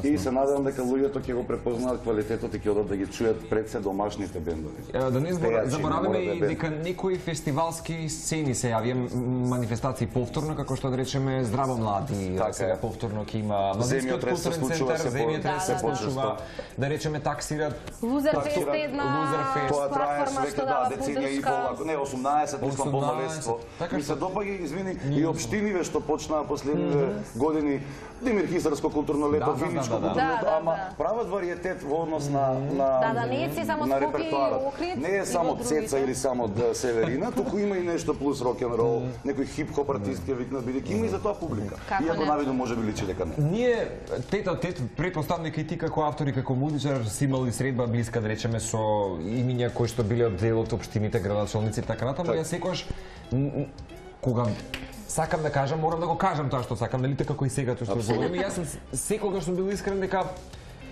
И се надевам дека луѓето ќе го препознаат квалитетот и ќе одат да ги чујат пред се домашните бендови. Да не забораваме и дека некои фестивалски сцени се јавија, манифестации повторно, како што да речеме Здраво млади, сега повторно ќе има Младинскиот културен центар, Земјотрес се случува, да речеме таксираат Лузерфест е една платформа што дава поддршка. Не, 18, мислам полнолетство. Ми се допаѓа, извини, и општиниве што почнаа последниве години Димир Хисарско културно лето, Виничко културно лето, ама прават вариетет во однос на не е си само Скопје и Охрид. Не е само Цеца или само Северина, туку има и нешто плюс рок-н-рол, некој хип-хоп артист ќе викнат, бидејќи има и за тоа публика. Иако навидно може би личи дека не. Ние тет претпоставаме и ти како автор и како музичар си имали средба блиска, да речеме, со имиња кои што биле од дел од општините, градоначалници и така натаму. Ја секогаш кога сакам да кажам, морам да го кажам тоа што сакам, нели така како и сега тоа што зборам. Јас сум секогаш сум бил искрен дека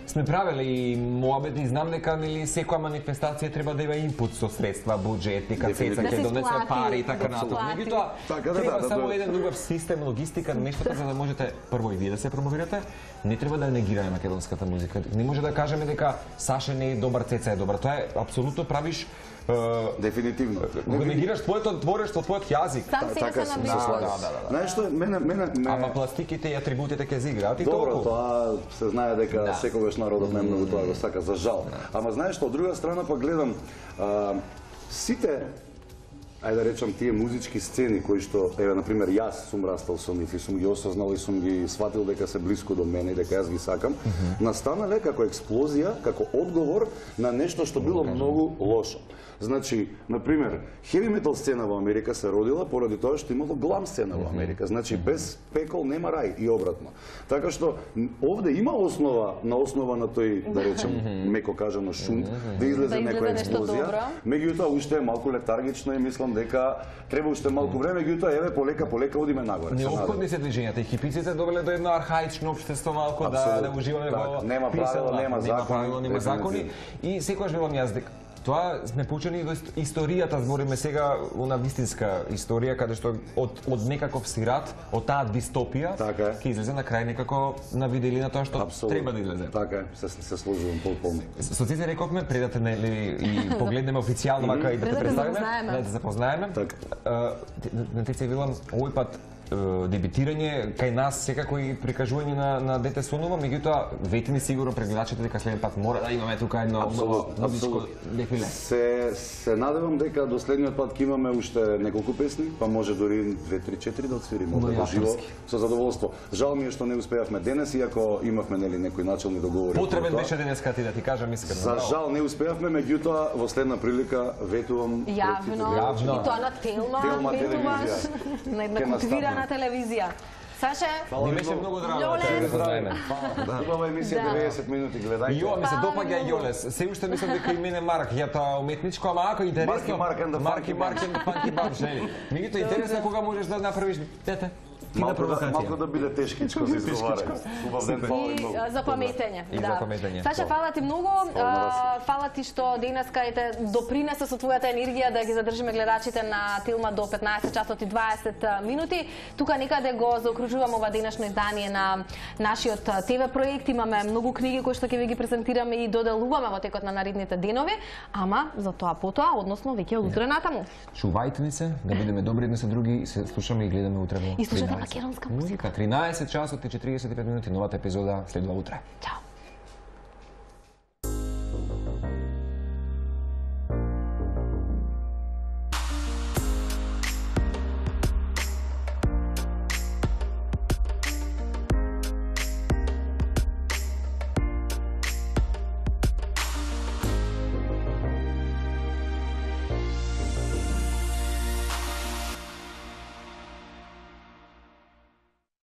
сме правеле и моабет и знам дека нели секоја манифестација треба да има инпут со средства, буџет, дека Цеца ќе донесе пари и така натаму. Меѓутоа треба само еден убав систем, логистика, нештото за да можете прво и вие да се промовирате. Не треба да негираме македонската музика. Не може да кажеме дека Саше не е добар, Цеца е добар. Тоа е апсолутно правиш дефинитивно. Го негираш твоето творештво, твојот јазик. Сам си се набива. Знаеш што, мене ама пластиките и атрибутите ќе изиграат и толку. Добро, тоа се знае дека секогаш народот најмногу тоа го сака, за жал. Ама знаеш што, од друга страна па гледам сите, ајде да речам, тие музички сцени кои што, еве, например, јас сум растал со нив и сум ги осознал и сум ги сватил дека се блиску до мене и дека јас ги сакам, настанале како експлозија, како одговор на нешто што било многу лошо. Значи, например, хеви метал сцена во Америка се родила поради тоа што имало глам сцена во Америка. Значи, без пекол нема рај и обратно. Така што овде има основа на тој, да речем, меко кажано шунт, да излезе некоја експлозија. Меѓутоа уште е малку летаргично и мислам дека треба уште малку време, меѓутоа еве полека одиме нагоре. Неопходни се движењата и хипиците довеле до едно архаично општество малку да уживаме во нема правила, нема закони и секогаш велам јас дека тоа сме поучени до историјата, збориме сега на вистинска историја, каде што од некаков сират, од таа дистопија, ќе излезе на крај некако на виделина тоа што треба да излезе. Така е, се сложувам полно. Со Цеца рековме, пред да те и погледнеме официјално вака и да те представиме, да те запознаеме. На Цеца велам, овој пат дебитирање кај нас секако и прикажување на дете сонува, меѓутоа вети ни сигурно прегледачите дека следен пат мора да имаме тука едно музичко дефиле. Се надевам дека до следниот пат ќе имаме уште неколку песни, па може дури 2, 3, 4 да отсвириме во живо со задоволство. Жал ми е што не успеавме денес, иако имавме нели некои начални договори. Потребен беше денеска ти да ти кажам искрено. За жал не успеавме, меѓутоа во следна прилика ветувам јавно и тоа на Телма ветуваш на една култивирана телевизија. Саше, ми беше многу драго да знаеме. Убава емисија 90 минути, гледајте. Јо, ми се допаѓа Јолес. Се уште мислам дека и мене Марк, ја тоа уметничко, ама ако интересно. Марки Панки Баб, жени. Меѓутоа интересно кога можеш да направиш дете. Малку да биде тешкичко за изговарање. Убав ден, фала и многу. За паметење. Саша, фала ти многу. Фала ти што денеска допринесе со твојата енергија да ги задржиме гледачите на Тилма до 15 часот и 20 минути. Тука некаде го заокружуваме ова денешно издание на нашиот ТВ проект. Имаме многу книги кои што ќе ви ги презентираме и доделуваме во текот на наредните денови, ама за тоа потоа, односно веќе од утре натаму. Чувајте ни се, да бидеме добри едни со други, се слушаме и гледаме утре во македонска музика. 13 часот и 45 минути, новата епизода следува утре. Чао.